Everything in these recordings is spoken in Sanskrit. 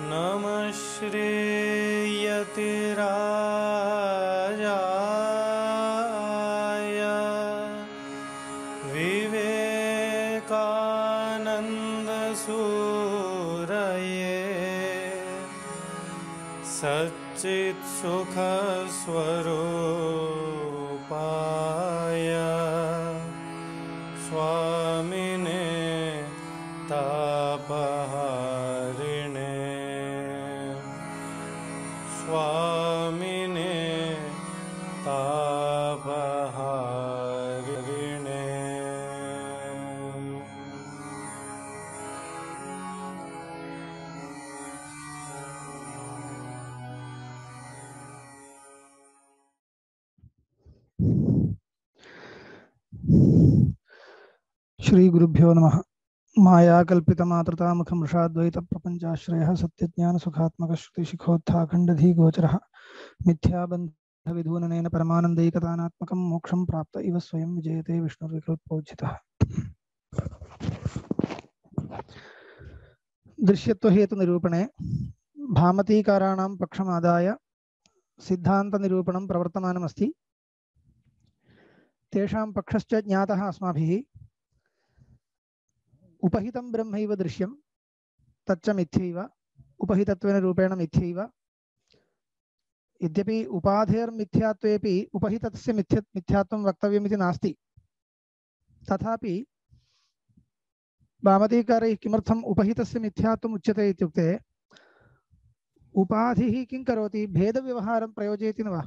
नमः श्रीयतिराजाय विवेकानन्दसूरये सच्चित्सुखस्वरूपाय स्वामिने तापहारिणे स्वामिने तापहारिणे। श्री गुरुभ्यो नमः। माया कल्पितमातृतामुखं वृषाद्वैत प्रपंचाश्रयः सत्यज्ञान सुखात्मक श्रुतिशिखोत्थाखण्डधी गोचरः मिथ्याबन्ध विधूननेन परमानन्दैकतानात्मकं मोक्षं प्राप्त इव स्वयं विजयते विष्णुर्विकल्पोज्झितः। दृश्यत्व हेतु निरूपणे भामतीकाराणां पक्षमादाय सिद्धान्त निरूपणं प्रवर्तमानमस्ति। तेषां पक्षश्च ज्ञातः अस्माभिः। उपहितं ब्रह्मैव दृश्यं तच्च मिथ्यैव उपहितत्वेन रूपेण मिथ्यैव। यद्यपि उपाधेर्मिथ्यात्वेपि उपहितस्य मिथ्यात्वं वक्तव्यमिति नास्ति, तथापि भामतीकारैः किमर्थम् उपहितस्य मिथ्यात्वम् उच्यते इत्युक्ते उपाधिः किं करोति, भेदव्यवहारं प्रयोजयति न वा?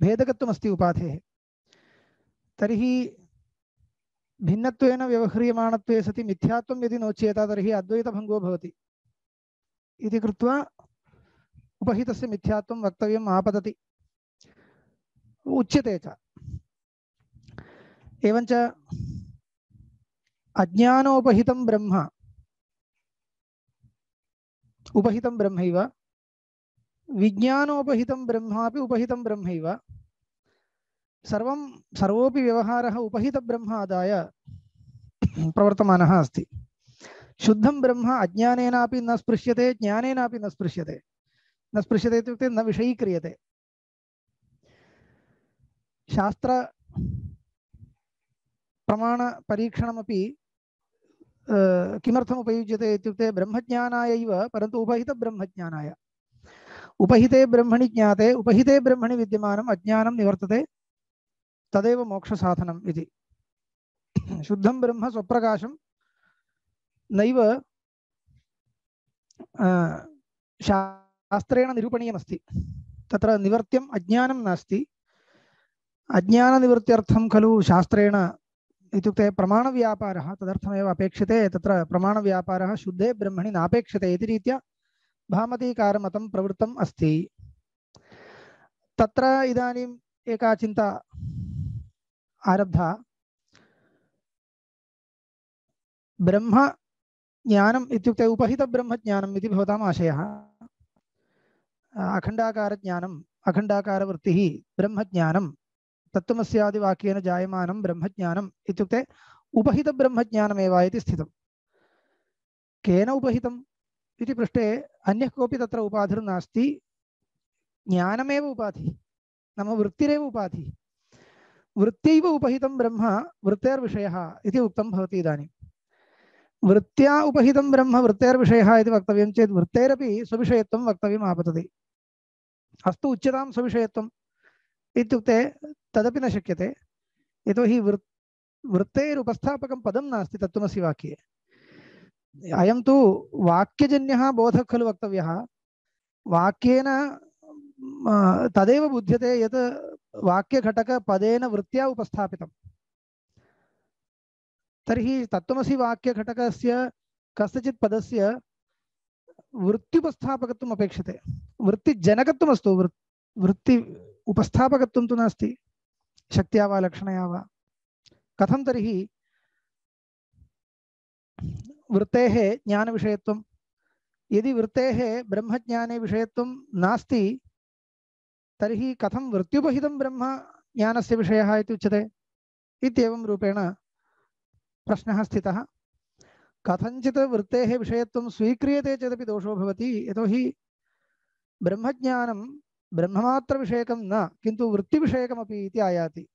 भेदकत्वमस्ति उपाधेः। तर्हि भिन्नत्वेन व्यवह्रियमाणत्वे सति मिथ्यात्वं यदि नोच्येत तर्हि अद्वैतभङ्गो भवति इति कृत्वा उपहितस्य मिथ्यात्वं वक्तव्यम् आपतति, उच्यते च। एवञ्च अज्ञानोपहितं ब्रह्म उपहितं ब्रह्मैव, विज्ञानोपहितं ब्रह्मापि उपहितं ब्रह्मैव। सर्वोपि व्यवहारः उपहितब्रह्म आदाय प्रवर्तमानः अस्ति। शुद्धं ब्रह्म अज्ञानेनापि न स्पृश्यते, ज्ञानेनापि न स्पृश्यते। न स्पृश्यते इत्युक्ते न विषयीक्रियते। शास्त्र प्रमाण परीक्षणमपि किमर्थम् उपयुज्यते इत्युक्ते ब्रह्मज्ञानाय एव, परन्तु उपहितब्रह्मज्ञानाय। उपहिते ब्रह्मणि ज्ञाते उपहिते ब्रह्मणि विद्यमानम् अज्ञानं निवर्तते, तदेव मोक्षसाधनम् इति। शुद्धं ब्रह्म स्वप्रकाशं नैव शास्त्रेण निरूपणीयमस्ति। तत्र निवर्त्यम् अज्ञानं नास्ति। अज्ञाननिवृत्त्यर्थं खलु शास्त्रेण इत्युक्ते प्रमाणव्यापारः तदर्थमेव अपेक्षते। तत्र प्रमाणव्यापारः शुद्धे ब्रह्मणि नापेक्षते इति रीत्या भामतीकारमतं प्रवृत्तम् अस्ति। तत्र इदानीम् एका चिन्ता आरब्धा। ब्रह्म ज्ञानम् इत्युक्ते उपहितब्रह्मज्ञानम् इति भवताम् आशयः। अखण्डाकारज्ञानम् अखण्डाकारवृत्तिः ब्रह्मज्ञानं तत्त्वमस्यादिवाक्येन जायमानं ब्रह्मज्ञानम् इत्युक्ते उपहितब्रह्मज्ञानमेव इति स्थितं। केन उपहितम् इति पृष्टे अन्यः कोऽपि तत्र उपाधिर्नास्ति। ज्ञानमेव उपाधिः, नाम वृत्तिरेव उपाधिः। वृत्त्यैव उपहितं ब्रह्म वृत्तेर्विषयः इति उक्तं भवति। इदानीं वृत्त्या उपहितं ब्रह्म वृत्तेर्विषयः इति वक्तव्यं चेत् वृत्तेरपि स्वविषयत्वं वक्तव्यम् आपतति। अस्तु उच्यतां स्वविषयत्वम् इत्युक्ते तदपि न शक्यते, यतोहि वृत्तेरुपस्थापकं पदं नास्ति तत्त्वमसि वाक्ये। अयं तु वाक्यजन्यः बोधः खलु वक्तव्यः। वाक्येन तदेव बुध्यते यत् वाक्यघटकपदेन वृत्त्या उपस्थापितं। तर्हि तत्त्वमसि वाक्यघटकस्य कस्यचित् पदस्य वृत्त्युपस्थापकत्वम् अपेक्षते। वृत्तिजनकत्वमस्तु, वृत्ति उपस्थापकत्वं तु नास्ति, शक्त्या वा लक्षणया वा। कथं तर्हि वृत्तेः ज्ञानविषयत्वं? यदि वृत्तेः ब्रह्मज्ञाने विषयत्वं नास्ति तर्हि कथं वृत्त्युपहितं ब्रह्म ज्ञानस्य विषयः इति उच्यते इत्येवं रूपेण प्रश्नः स्थितः। कथञ्चित् वृत्तेः विषयत्वं स्वीक्रियते चेदपि दोषो भवति, यतोहि ब्रह्मज्ञानं ब्रह्ममात्रविषयकं न किन्तु वृत्तिविषयकमपि इति आयाति।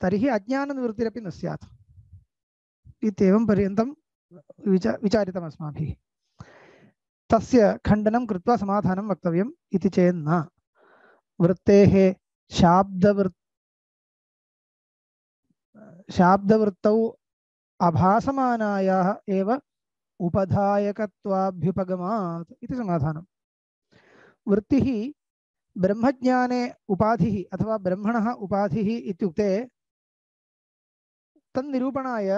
तर्हि अज्ञाननिवृत्तिरपि न स्यात् इत्येवं पर्यन्तं विचारितम् अस्माभिः। तस्य खण्डनं कृत्वा समाधानं वक्तव्यम् इति चेन्न वृत्तेः शाब्दवृत्तौ आभासमानायाः एव उपधायकत्वाभ्युपगमात् इति समाधानं। वृत्तिः ब्रह्मज्ञाने उपाधिः अथवा ब्रह्मणः उपाधिः इत्युक्ते तन्निरूपणाय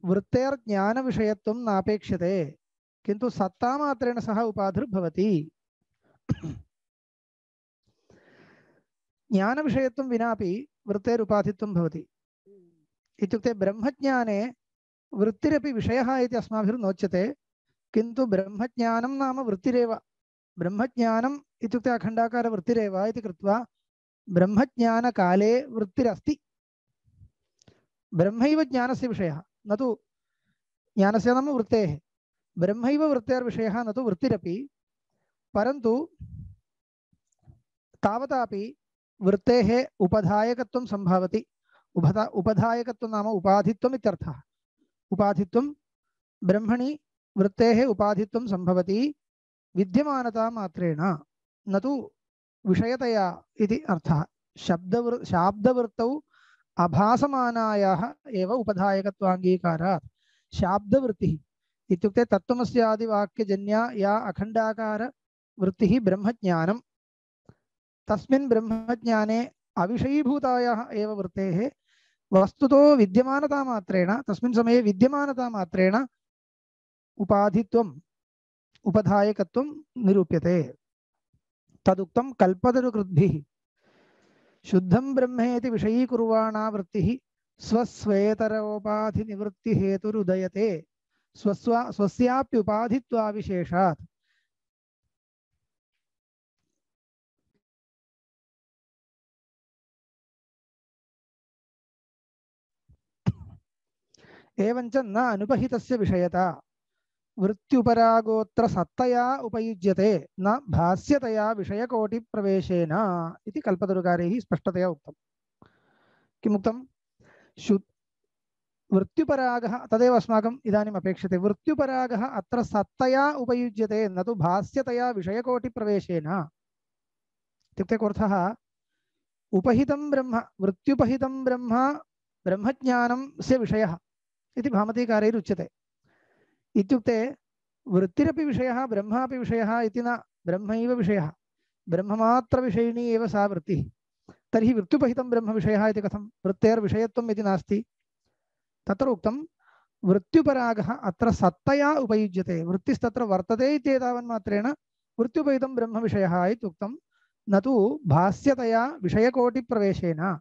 वृत्तेर्ज्ञानविषयत्वं नापेक्ष्यते, किन्तु सत्तामात्रेण सह उपाधिर्भवति। ज्ञानविषयत्वं विनापि वृत्तेरुपाधित्वं भवति। इत्युक्ते ब्रह्मज्ञाने वृत्तिरपि विषयः इति अस्माभिर्नोच्यते, किन्तु ब्रह्मज्ञानं नाम वृत्तिरेव। ब्रह्मज्ञानम् इत्युक्ते अखण्डाकारवृत्तिरेव इति कृत्वा ब्रह्मज्ञानकाले वृत्तिरस्ति। ब्रह्मैव ज्ञानस्य विषयः, न तु ज्ञानस्य नाम वृत्तेः। ब्रह्मैव वृत्तेर्विषयः न तु वृत्तिरपि, परन्तु तावतापि वृत्तेः उपधायकत्वं सम्भवति। उपधायकत्वं नाम उपाधित्वम् इत्यर्थः। उपाधित्वं ब्रह्मणि वृत्तेः उपाधित्वं सम्भवति विद्यमानता मात्रेण, न तु विषयतया इति अर्थः। शाब्दवृत्तौ आभासमानायाः एव उपधायकत्वाङ्गीकारात्। शाब्दवृत्तिः इत्युक्ते तत्त्वमस्यादिवाक्यजन्या या अखण्डाकार वृत्तिः ब्रह्मज्ञानं, तस्मिन् ब्रह्मज्ञाने अविषयीभूतायाः एव वृत्तेः वस्तुतो विद्यमानता मात्रेण, तस्मिन् समये विद्यमानता मात्रेण उपाधित्वम् उपधायकत्वं निरूप्यते। तदुक्तं कल्पतरुकृद्भिः। शुद्धं ब्रह्मेति विषयीकुर्वाणा वृत्तिः स्वस्वेतरोपाधिनिवृत्तिहेतुरुदयते स्वस्याप्युपाधित्वाविशेषात्। एवञ्च न अनुपहितस्य विषयता वृत्त्युपरागोत्र सत्तया उपयुज्यते न भास्यतया विषयकोटिप्रवेशेन इति कल्पतरुकारैः स्पष्टतया उक्तं। किमुक्तं? वृत्त्युपरागः तदेव अस्माकम् इदानीम् अपेक्षते। वृत्त्युपरागः अत्र सत्तया उपयुज्यते न तु भास्यतया विषयकोटिप्रवेशेन। इत्युक्ते कोऽर्थः? उपहितं ब्रह्म, वृत्त्युपहितं ब्रह्म ब्रह्मज्ञानस्य विषयः इति भामतीकारैरुच्यते। इत्युक्ते वृत्तिरपि विषयः ब्रह्मापि विषयः इति न, ब्रह्मैव विषयः, ब्रह्ममात्रविषयिणी एव सा वृत्तिः। तर्हि वृत्त्युपहितं ब्रह्मविषयः इति कथं? वृत्तेर्विषयत्वम् इति नास्ति। तत्र उक्तं वृत्त्युपरागः अत्र सत्तया उपयुज्यते। वृत्तिस्तत्र वर्तते इत्येतावन्मात्रेण वृत्त्युपहितं ब्रह्मविषयः इत्युक्तं, न तु भास्यतया विषयकोटिप्रवेशेन।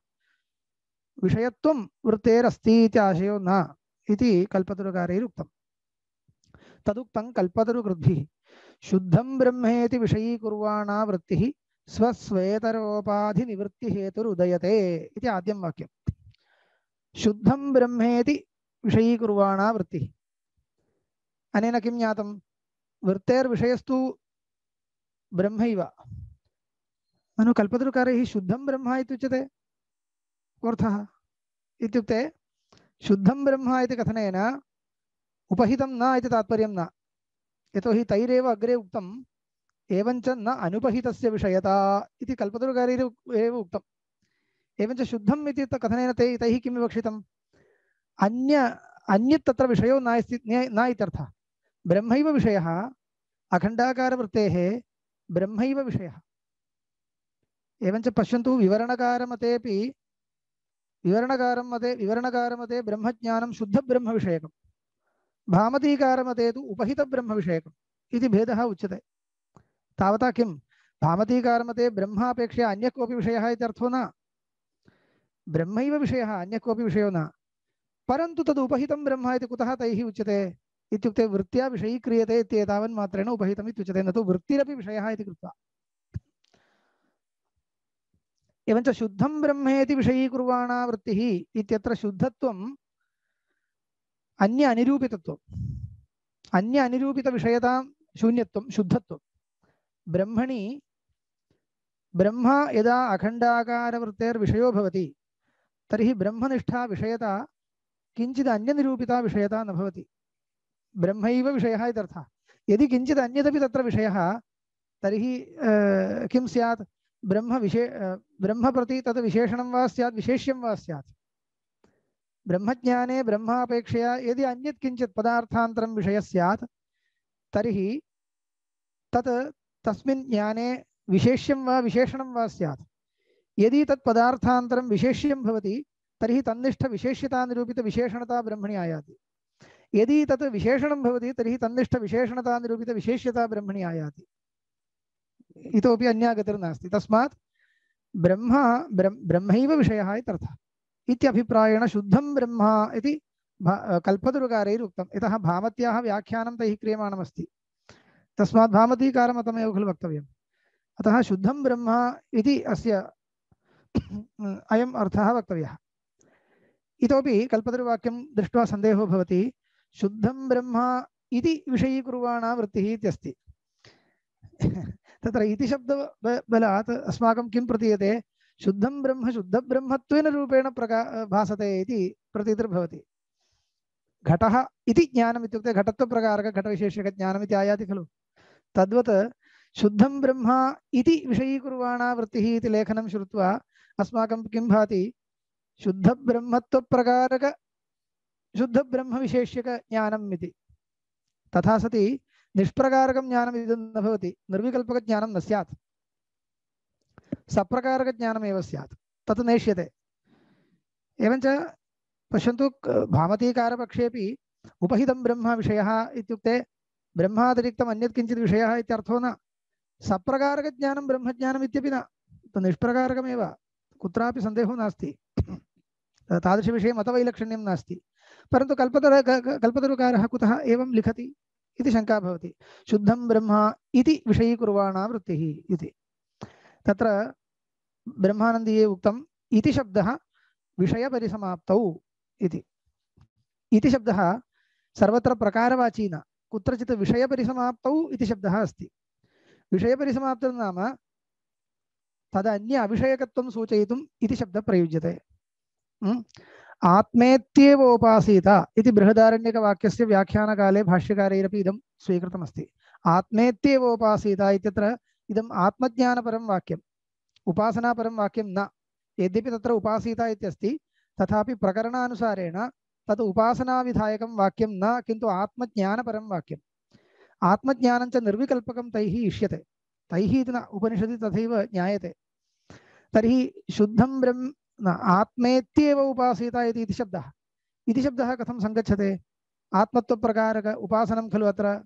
विषयत्वं वृत्तेरस्ति इति आशयो न इति कल्पतरुकारैरुक्तम्। तदुक्तं कल्पतरुकृद्भिः। शुद्धं ब्रह्मेति विषयीकुर्वाणा वृत्तिः स्वस्वेतरोपाधिनिवृत्तिहेतुरुदयते इति आद्यं वाक्यं। शुद्धं ब्रह्मेति विषयीकुर्वाणा वृत्तिः। अनेन किं ज्ञातं? वृत्तेर्विषयस्तु ब्रह्मैव। ननु कल्पतरुकारैः शुद्धं ब्रह्म इत्युच्यते। कोऽर्थः? इत्युक्ते शुद्धं ब्रह्म इति कथनेन उपहितं न इति तात्पर्यं न, यतोहि तैरेव अग्रे उक्तम् एवञ्च न अनुपहितस्य विषयता इति कल्पतरुकारैरेव उक्तम्। एवञ्च शुद्धम् इति कथनेन तैः किं विवक्षितम्? अन्यत् तत्र विषयो न इत्यर्थः। ब्रह्मैव विषयः, अखण्डाकारवृत्तेः ब्रह्मैव विषयः। एवञ्च पश्यन्तु, विवरणकारमते ब्रह्मज्ञानं शुद्धब्रह्मविषयकं, भामतीकारमते तु उपहितब्रह्मविषयकम् इति भेदः उच्यते। तावता किं? भामतीकारमते ब्रह्मापेक्षया अन्यः कोऽपि विषयः इत्यर्थो न, ब्रह्मैव विषयः, अन्यः कोऽपि विषयो न। परन्तु तद् उपहितं ब्रह्म इति कुतः तैः उच्यते? इत्युक्ते वृत्त्या विषयीक्रियते इत्येतावन्मात्रेण उपहितम् इत्युच्यते, न तु वृत्तिरपि विषयः इति कृत्वा। एवञ्च शुद्धं ब्रह्मेति विषयीकुर्वाणा वृत्तिः इत्यत्र शुद्धत्वम् अन्य अनिरूपितत्वम् अन्य अनिरूपितविषयतां शून्यत्वं शुद्धत्वं ब्रह्मणि ब्रह्म यदा अखण्डाकारवृत्तेर्विषयो भवति तर्हि ब्रह्मनिष्ठा विषयता किञ्चित् अन्यनिरूपिता विषयता न भवति ब्रह्मैव विषयः इत्यर्थः यदि किञ्चित् अन्यदपि तत्र विषयः तर्हि किं स्यात् ब्रह्म प्रति तद् विशेषणं वा स्यात् विशेष्यं वा स्यात् ब्रह्मज्ञाने ब्रह्मापेक्षया यदि अन्यत् किञ्चित् पदार्थान्तरं विषयः स्यात् तर्हि तत् तस्मिन् ज्ञाने विशेष्यं वा विशेषणं वा स्यात् यदि तत् पदार्थान्तरं विशेष्यं भवति तर्हि तन्निष्ठविशेष्यतानिरूपितविशेषणता ब्रह्मणि आयाति यदि तत् विशेषणं भवति तर्हि तन्निष्ठविशेषणतानिरूपितविशेष्यता ब्रह्मणि आयाति इतोपि अन्या गतिर्नास्ति तस्मात् ब्रह्मैव विषयः इत्यर्थः इत्यभिप्रायेण शुद्धं ब्रह्म इति कल्पतरुकारैरुक्तम् यतः भामत्याः व्याख्यानं तैः क्रियमाणमस्ति तस्मात् भामतीकारमतमेव खलु वक्तव्यम् अतः शुद्धं ब्रह्म इति अस्य अयम् अर्थः वक्तव्यः इतोपि कल्पतरुवाक्यं दृष्ट्वा सन्देहो भवति शुद्धं ब्रह्म इति विषयीकुर्वाणा वृत्तिः इत्यस्ति तत्र इति शब्दबलात् अस्माकं किं प्रतीयते शुद्धं ब्रह्म शुद्धब्रह्मत्वेन रूपेण भासते इति प्रतीतिर्भवति घटः इति ज्ञानम् इत्युक्ते घटत्वप्रकारक घटविशेषकज्ञानम् इति आयाति खलु तद्वत् शुद्धं ब्रह्म इति विषयीकुर्वाणा वृत्तिः इति लेखनं श्रुत्वा अस्माकं किं भाति शुद्धब्रह्मत्वप्रकारक शुद्धब्रह्मविशेष्यकज्ञानम् इति तथा सति निष्प्रकारकं ज्ञानम् इदं न भवति निर्विकल्पकज्ञानं न स्यात् सप्रकारकज्ञानमेव स्यात् तत् नेष्यते एवञ्च पश्यन्तु भामतीकारपक्षेपि उपहितं ब्रह्म विषयः इत्युक्ते ब्रह्मातिरिक्तम् अन्यत् किञ्चित् विषयः इत्यर्थो न सप्रकारकज्ञानं ब्रह्मज्ञानम् इत्यपि न निष्प्रकारकमेव कुत्रापि सन्देहो नास्ति तादृशविषये मतवैलक्षण्यं नास्ति परन्तु कल्पतरुकारः कुतः एवं लिखति इति शङ्का भवति शुद्धं ब्रह्म इति विषयीकुर्वाणा वृत्तिः इति तत्र ब्रह्मानन्दीये उक्तम् इति शब्दः विषयपरिसमाप्तौ इति शब्दः सर्वत्र प्रकारवाची न कुत्रचित् विषयपरिसमाप्तौ इति शब्दः अस्ति विषयपरिसमाप्तिर्नाम तदन्य अविषयकत्वं सूचयितुम् इति शब्दः प्रयुज्यते आत्मेत्येव उपासीत इति बृहदारण्यकवाक्यस्य व्याख्यानकाले भाष्यकारैरपि इदं स्वीकृतमस्ति आत्मेत्येव उपासीत इत्यत्र इदम् आत्मज्ञानपरं वाक्यम् उपासनापरं वाक्यं न यद्यपि तत्र उपासीत इत्यस्ति तथापि प्रकरणानुसारेण तत् उपासनाविधायकं वाक्यं न किन्तु आत्मज्ञानपरं वाक्यम् आत्मज्ञानं च निर्विकल्पकं तैः इष्यते तैः इति न उपनिषदि तथैव ज्ञायते तर्हि शुद्धं ब्रह्म आत्मेत्येव उपासीत इति शब्दः कथं सङ्गच्छते आत्मत्वप्रकारक उपासनं खलु अत्र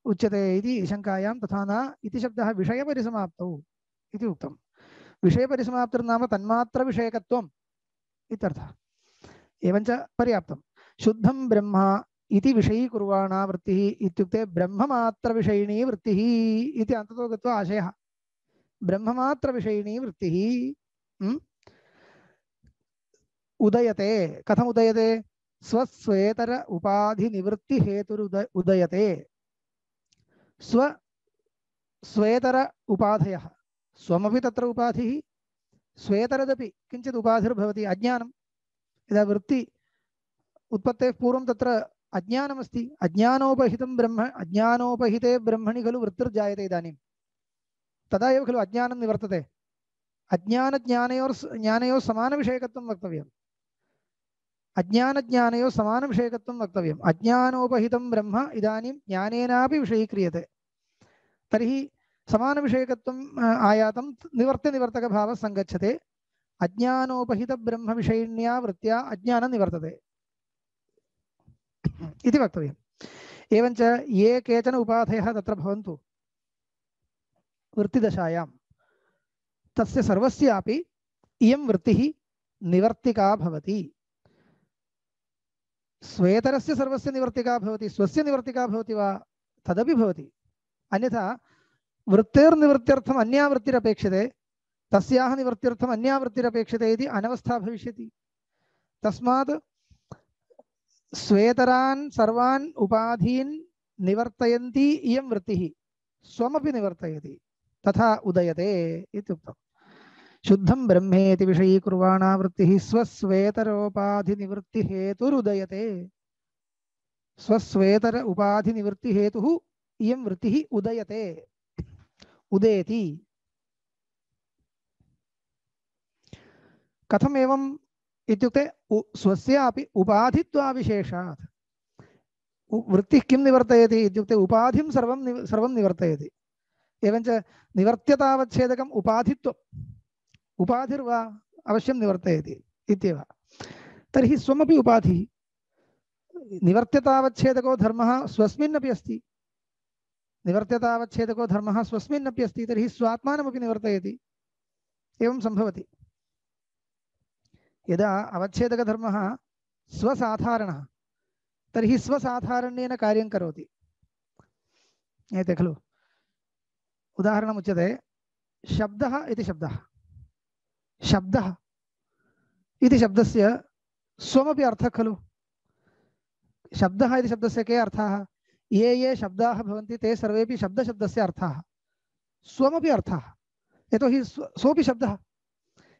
उच्यते इति शङ्कायां तथा न इति शब्दः विषयपरिसमाप्तौ इति उक्तम् विषयपरिसमाप्तिर्नाम तन्मात्रविषयकत्वम् इत्यर्थः एवञ्च पर्याप्तं शुद्धं ब्रह्म इति विषयीकुर्वाणा वृत्तिः इत्युक्ते ब्रह्ममात्रविषयिणी वृत्तिः इति अन्ततो गत्वा आशयः ब्रह्ममात्रविषयिणी वृत्तिः उदयते कथम उदयते स्वस्वेतर उपाधि उदयते स्वेतर उपाधयः स्वमपि तत्र उपाधिः स्वेतरदपि किञ्चित् उपाधिर्भवति अज्ञानं यदा वृत्ति उत्पत्तेः पूर्वं तत्र अज्ञानमस्ति अज्ञानोपहितं ब्रह्म अज्ञानोपहिते ब्रह्मणि खलु वृत्तिर्जायते इदानीं तदा एव खलु अज्ञानं निवर्तते ज्ञानयोः समानविषयकत्वं वक्तव्यम् अज्ञानज्ञानयोः समानविषयकत्वं वक्तव्यम् अज्ञानोपहितं ब्रह्म इदानीं ज्ञानेनापि विषयीक्रियते तर्हि समानविषयकत्वम् आयातं निवर्त्यनिवर्तकभावः सङ्गच्छते अज्ञानोपहितब्रह्मविषयिण्या वृत्त्या अज्ञानं निवर्तते इति वक्तव्यम् एवञ्च ये केचन उपाधयः तत्र भवन्तु वृत्तिदशायां तस्य सर्वस्यापि इयं वृत्तिः निवर्तिका भवति स्वेतरस्य सर्वस्य निवर्तिका भवति स्वस्य निवर्तिका भवति वा तदपि भवति अन्यथा वृत्तेर्निवृत्त्यर्थम् अन्या वृत्तिरपेक्षते तस्याः निवृत्त्यर्थम् अन्या वृत्तिरपेक्षते इति अनवस्था भविष्यति। तस्मात् स्वेतरान् सर्वान् उपाधीन् निवर्तयन्ती इयं वृत्तिः स्वमपि निवर्तयति तथा उदयते इत्युक्तम्। शुद्धं ब्रह्मेति विषयीकुर्वाणा वृत्तिः स्वस्वेतरोपाधिनिवृत्तिहेतुरुदयते। स्वस्वेतर उपाधिनिवृत्तिहेतुः इयं वृत्तिः उदयते उदेति। कथम् एवम् इत्युक्ते स्वस्यापि उपाधित्वाविशेषात् वृत्तिः किं निवर्तयति इत्युक्ते उपाधिं सर्वं निवर्तयति। एवञ्च निवर्त्यतावच्छेदकम् उपाधित्वम् उपाधिर्वा अवश्यं निवर्तयति इत्येव। तर्हि स्वमपि उपाधिः निवर्त्यतावच्छेदको धर्मः स्वस्मिन्नपि अस्ति। निवर्त्यतावच्छेदको धर्मः स्वस्मिन्नपि अस्ति तर्हि स्वात्मानमपि निवर्तयति। एवं सम्भवति। यदा अवच्छेदकधर्मः स्वसाधारणः तर्हि स्वसाधारण्येन कार्यं करोति। एते खलु उदाहरणमुच्यते शब्दः इति शब्दः। शब्दः इति शब्दस्य स्वमपि अर्थः खलु। शब्दः इति शब्दस्य के अर्थाः? ये ये शब्दाः भवन्ति ते सर्वेपि शब्दशब्दस्य अर्थाः स्वमपि अर्थाः। यतोहि सोऽपि शब्दः।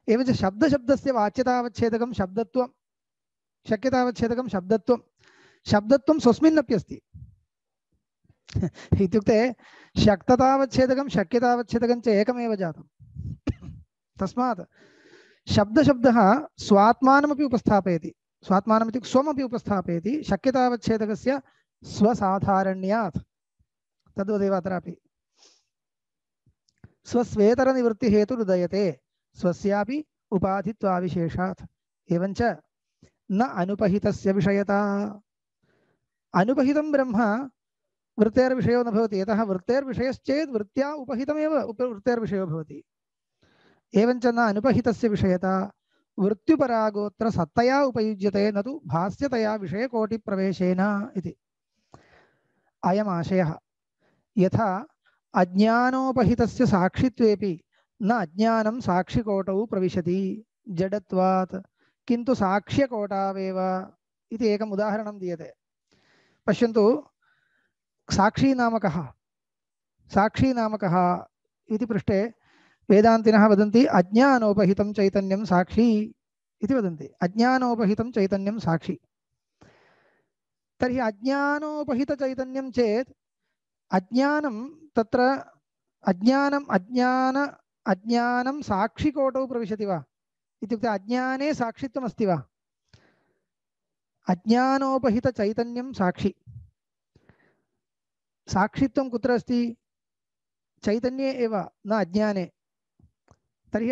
एवञ्च शब्दशब्दस्य वाच्यतावच्छेदकं शब्दत्वं शक्यतावच्छेदकं शब्दत्वं शब्दत्वं स्वस्मिन्नपि अस्ति। इत्युक्ते शक्ततावच्छेदकं शक्यतावच्छेदकं च एकमेव जातम्। तस्मात् शब्दशब्दः स्वात्मानमपि उपस्थापयति। स्वात्मानम् इत्युक्ते स्वमपि उपस्थापयति शक्यतावच्छेदकस्य स्वसाधारण्यात्। तद्वदेव अत्रापि स्वस्वेतरनिवृत्तिहेतुरुदयते स्वस्यापि उपाधित्वाविशेषात्। एवञ्च न अनुपहितस्य विषयता। अनुपहितं ब्रह्म वृत्तेर्विषयो न भवति। यतः वृत्तेर्विषयश्चेत् वृत्त्या उपहितमेव वृत्तेर्विषयो भवति। एवञ्च न अनुपहितस्य विषयता वृत्त्युपरागोत्र सत्तया उपयुज्यते न तु भास्यतया विषयकोटिप्रवेशेन इति। अयमाशयः यथा अज्ञानोपहितस्य साक्षित्वेपि न अज्ञानं साक्षिकोटौ प्रविशति जडत्वात् किन्तु साक्ष्यकोटावेव इति एकम् उदाहरणं दीयते। पश्यन्तु साक्षी नाम कः? साक्षी नाम कः इति पृष्टे वेदान्तिनः वदन्ति अज्ञानोपहितं चैतन्यं साक्षी इति वदन्ति। अज्ञानोपहितं चैतन्यं साक्षी। तर्हि अज्ञानोपहितचैतन्यं चेत् अज्ञानं तत्र अज्ञानं साक्षिकोटौ प्रविशति वा? इत्युक्ते अज्ञाने साक्षित्वम् अस्ति वा? अज्ञानोपहितचैतन्यं साक्षी। साक्षित्वं कुत्र अस्ति? चैतन्ये एव न अज्ञाने। तर्हि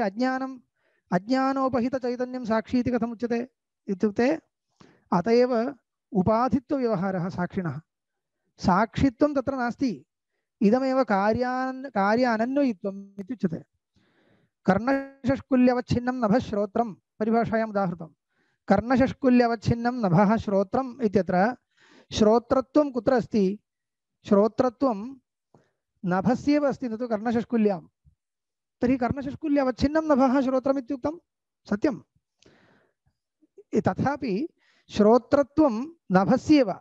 अज्ञानोपहितचैतन्यं साक्षी इति कथम् उच्यते इत्युक्ते अत एव उपाधित्वव्यवहारः साक्षिणः। साक्षित्वं तत्र नास्ति। इदमेव कार्य अनन्वयित्वम् इत्युच्यते। कर्णषष्कुल्यवच्छिन्नं नभः श्रोत्रं परिभाषायाम् उदाहृतं। कर्णषष्कुल्यवच्छिन्नं नभः श्रोत्रम् इत्यत्र श्रोत्रत्वं कुत्र अस्ति? श्रोत्रत्वं नभस्येव अस्ति न तु कर्णषष्कुल्यां। तर्हि कर्णषष्कुल्यवच्छिन्नं नभः श्रोत्रम् इत्युक्तं सत्यं। तथापि श्रोत्रत्वं नभस्येव।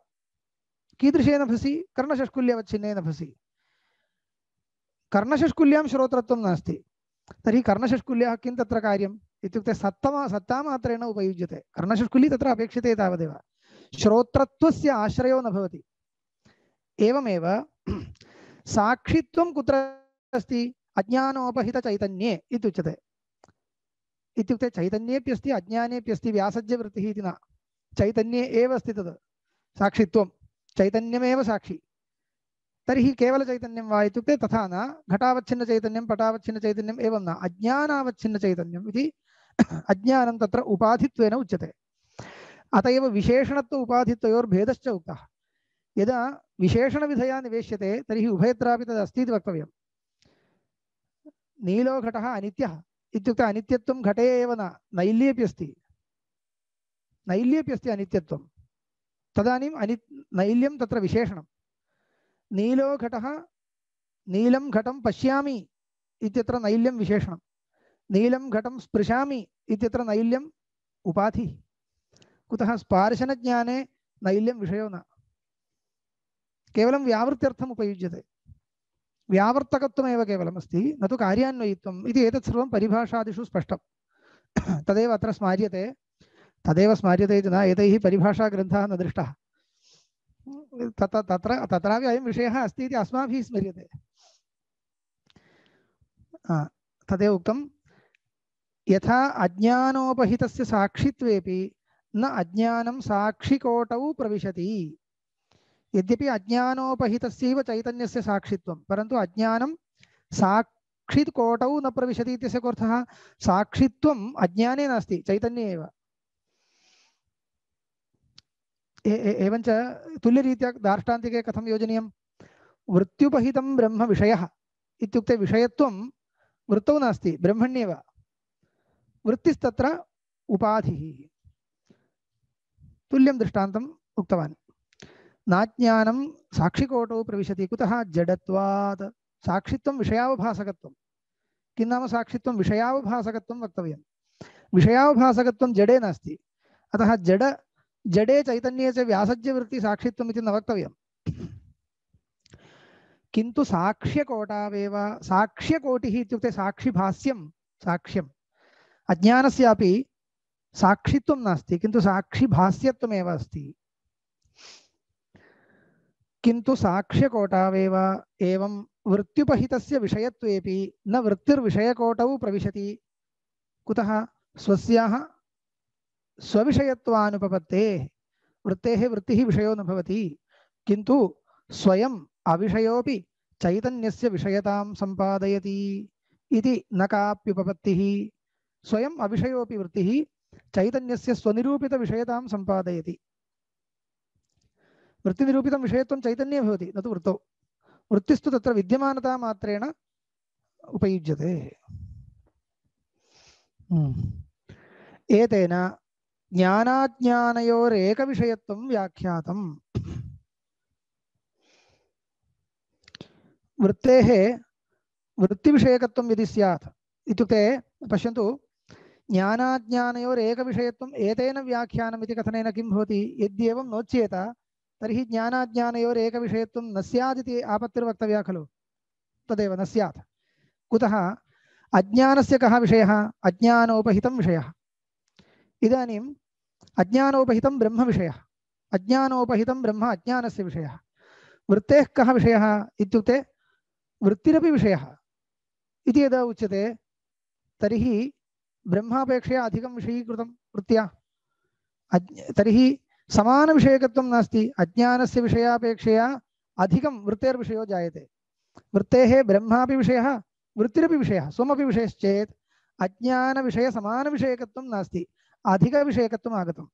कीदृशे नभसि? कर्णषष्कुल्यवच्छिन्ने नभसि। कर्णषष्कुल्यां श्रोत्रत्वं नास्ति। तर्हि कर्णषष्कुल्याः किं तत्र कार्यम् इत्युक्ते सत्तामात्रेण उपयुज्यते। कर्णषष्कुली तत्र अपेक्षते तावदेव। श्रोत्रत्वस्य आश्रयो न भवति। एवमेव साक्षित्वं कुत्र अस्ति? अज्ञानोपहितचैतन्ये इत्युच्यते। इत्युक्ते चैतन्येऽप्यस्ति अज्ञानेऽप्यस्ति व्यासज्यवृत्तिः इति न। चैतन्ये एव अस्ति तद् साक्षित्वं। चैतन्यमेव साक्षी। तर्हि केवलचैतन्यं वा इत्युक्ते तथा न। घटावच्छिन्नचैतन्यं पटावच्छिन्नचैतन्यम् एवं न। अज्ञानावच्छिन्नचैतन्यम् इति अज्ञानं तत्र उपाधित्वेन उच्यते। अत एव विशेषणत्व उपाधित्वयोर्भेदश्च उक्तः। यदा विशेषणविधया निवेश्यते तर्हि उभयत्रापि तदस्ति इति वक्तव्यम्। नीलो घटः अनित्यः इत्युक्ते अनित्यत्वं घटे एव न, नैल्येऽपि अस्ति। नैल्येऽपि अस्ति अनित्यत्वं। तदानीम् नैल्यं तत्र विशेषणं। नीलो घटः नीलं घटं पश्यामि इत्यत्र नैल्यं विशेषणं। नीलं घटं स्पृशामि इत्यत्र नैल्यम् उपाधिः। कुतः स्पार्शनज्ञाने नैल्यं विषयो न, केवलं व्यावृत्त्यर्थम् उपयुज्यते, व्यावर्तकत्वमेव केवलम् अस्ति, न तु कार्यान्वयित्वम् इति एतत् सर्वं परिभाषादिषु स्पष्टं। तदेव अत्र स्मार्यते, तदेव स्मार्यते इति न, एतैः परिभाषाग्रन्थः न दृष्टः, तत्रापि अयं विषयः अस्ति इति अस्माभिः स्मर्यते। तदेव उक्तं, यथा अज्ञानोपहितस्य साक्षित्वेपि न अज्ञानं साक्षिकोटौ प्रविशति। यद्यपि अज्ञानोपहितस्यैव चैतन्यस्य साक्षित्वं, परन्तु अज्ञानं साक्षिकोटौ न प्रविशति इत्यस्य अर्थः साक्षित्वम् अज्ञाने नास्ति, चैतन्ये एव। एवञ्च तुल्यरीत्या दार्ष्टान्तिके कथं योजनीयं? वृत्त्युपहितं ब्रह्म विषयः इत्युक्ते विषयत्वं वृत्तौ नास्ति, ब्रह्मण्येव, वृत्तिस्तत्र उपाधिः। तुल्यं दृष्टान्तम् उक्तवान्। नाज्ञानं साक्षिकोटौ प्रविशति, कुतः? जडत्वात्। साक्षित्वं विषयावभासकत्वं। किं नाम साक्षित्वं? विषयावभासकत्वं वक्तव्यं। विषयावभासकत्वं जडे नास्ति, अतः जडे चैतन्ये च व्यासज्यवृत्ति साक्षित्वम् इति न वक्तव्यम्। किन्तु साक्ष्यकोटावेव, साक्ष्यकोटिः इत्युक्ते साक्षिभाष्यं, साक्ष्यम्। अज्ञानस्यापि साक्षित्वं नास्ति, किन्तु साक्षिभाष्यत्वमेव अस्ति। किन्तु साक्ष्यकोटावेव एवं वृत्त्युपहितस्य विषयत्वेपि न वृत्तिर्विषयकोटौ प्रविशति। कुतः? स्वस्याः स्वविषयत्वानुपपत्तेः। वृत्तेः वृत्तिः विषयो न भवति, किन्तु स्वयम् अविषयोपि चैतन्यस्य विषयतां सम्पादयति इति न काप्युपपत्तिः। स्वयम् अविषयोपि वृत्तिः चैतन्यस्य स्वनिरूपितविषयतां सम्पादयति। वृत्तिनिरूपितं विषयत्वं चैतन्ये भवति, न तु वृत्तौ। वृत्तिस्तु तत्र विद्यमानता मात्रेण उपयुज्यते। एतेन ज्ञानाज्ञानयोरेकविषयत्वं व्याख्यातम्। वृत्तेः वृत्तिविषयकत्वं यदि स्यात् इत्युक्ते पश्यन्तु, ज्ञानाज्ञानयोरेकविषयत्वम् एतेन व्याख्यानम् इति कथनेन किं भवति? यद्येवं नोच्येत तर्हि ज्ञानाज्ञानयोरेकविषयत्वं न स्यादिति आपत्तिर्वक्तव्या खलु? तदेव न स्यात्। कुतः? अज्ञानस्य कः विषयः? अज्ञानोपहितं विषयः। इदानीम् अज्ञानोपहितं ब्रह्म विषयः, अज्ञानोपहितं ब्रह्म अज्ञानस्य विषयः। वृत्तेः कः विषयः इत्युक्ते वृत्तिरपि विषयः इति यदा उच्यते तर्हि ब्रह्मापेक्षया अधिकं विषयीकृतं वृत्त्या, तर्हि समानविषयकत्वं नास्ति। अज्ञानस्य विषयापेक्षया अधिकं वृत्तेर्विषयो जायते। वृत्तेः ब्रह्मापि विषयः, वृत्तिरपि विषयः, स्वमपि विषयश्चेत् अज्ञानविषयसमानविषयकत्वं नास्ति, अधिकविषयकत्वम् आगतम्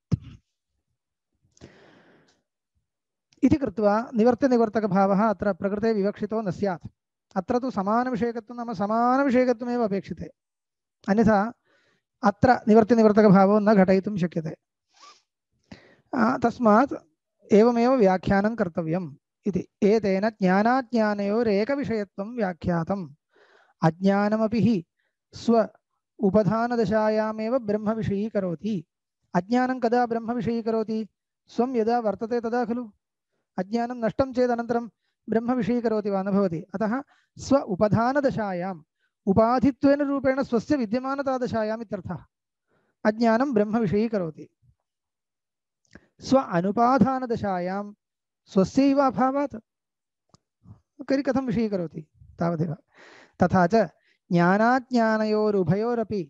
इति कृत्वा निवर्त्यनिवर्तकभावः अत्र प्रकृते विवक्षितो न स्यात्। अत्र तु समानविषयकत्वं नाम समानविषयकत्वमेव अपेक्षिते, अन्यथा अत्र निवर्त्यनिवर्तकभावो न घटयितुं शक्यते। तस्मात् एवमेव व्याख्यानं कर्तव्यम् इति। एतेन ज्ञानाज्ञानयोरेकविषयत्वं व्याख्यातम्। अज्ञानमपि हि स्व उपधानदशायामेव ब्रह्मविषयीकरोति। अज्ञानं कदा ब्रह्मविषयीकरोति? स्वं यदा वर्तते तदा खलु। अज्ञानं नष्टं चेत् अनन्तरं ब्रह्मविषयीकरोति वा? न भवति। अतः स्व उपधानदशायाम्, उपाधित्वेन रूपेण स्वस्य विद्यमानतादशायाम् इत्यर्थः। अज्ञानं ब्रह्मविषयीकरोति। स्व अनुपाधानदशायां स्वस्यैव अभावात् कथं विषयीकरोति? तावदेव। तथा च ज्ञानाज्ञानयोरुभयोरपि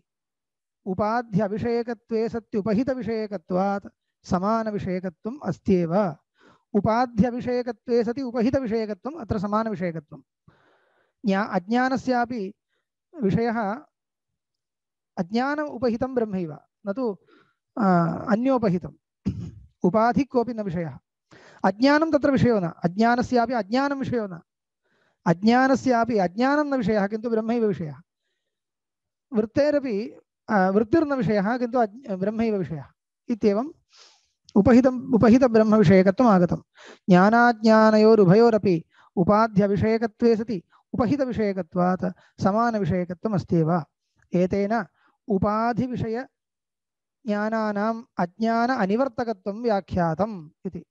उपाध्यविषयकत्वे सत्युपहितविषयकत्वात् समानविषयकत्वम् अस्त्येव। उपाध्यविषयकत्वे सति उपहितविषयकत्वम् अत्र समानविषयकत्वम्। अज्ञानस्यापि विषयः अज्ञान उपहितं ब्रह्मैव, न तु अन्योपहितम्। उपाधि कोऽपि न विषयः। अज्ञानं तत्र विषयो न, अज्ञानस्यापि अज्ञानं विषयो न, अज्ञानस्यापि अज्ञानं न विषयः, किन्तु ब्रह्मैव विषयः। वृत्तेरपि वृत्तिर्न विषयः, किन्तु ब्रह्मैव विषयः। इत्येवम् उपहितब्रह्मविषयकत्वम् आगतम्। ज्ञानाज्ञानयोरुभयोरपि उपाध्यविषयकत्वे सति उपहितविषयकत्वात् समानविषयकत्वम् अस्त्येव। एतेन उपाधिविषय ज्ञानानाम् अज्ञान अनिवर्तकत्वं व्याख्यातम् इति।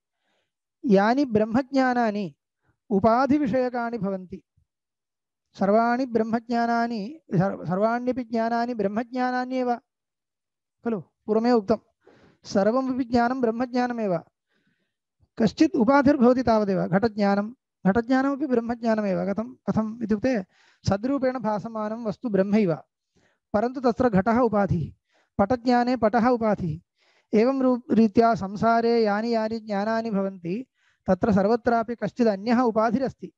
यानि ब्रह्मज्ञानानि उपाधिविषयकानि भवन्ति, सर्वाणि ब्रह्मज्ञानानि सर्वाण्यपि ज्ञानानि ब्रह्मज्ञानान्येव खलु, पूर्वमेव उक्तं सर्वमपि ज्ञानं ब्रह्मज्ञानमेव, कश्चित् उपाधिर्भवति तावदेव। घटज्ञानमपि ब्रह्मज्ञानमेव। कथम् इत्युक्ते सद्रूपेण भासमानं वस्तु ब्रह्मैव, परन्तु तत्र घटः उपाधिः, पटज्ञाने पटः उपाधिः। एवं रीत्या संसारे यानि यानि ज्ञानानि भवन्ति तत्र सर्वत्रापि कश्चित् अन्यः उपाधिरस्ति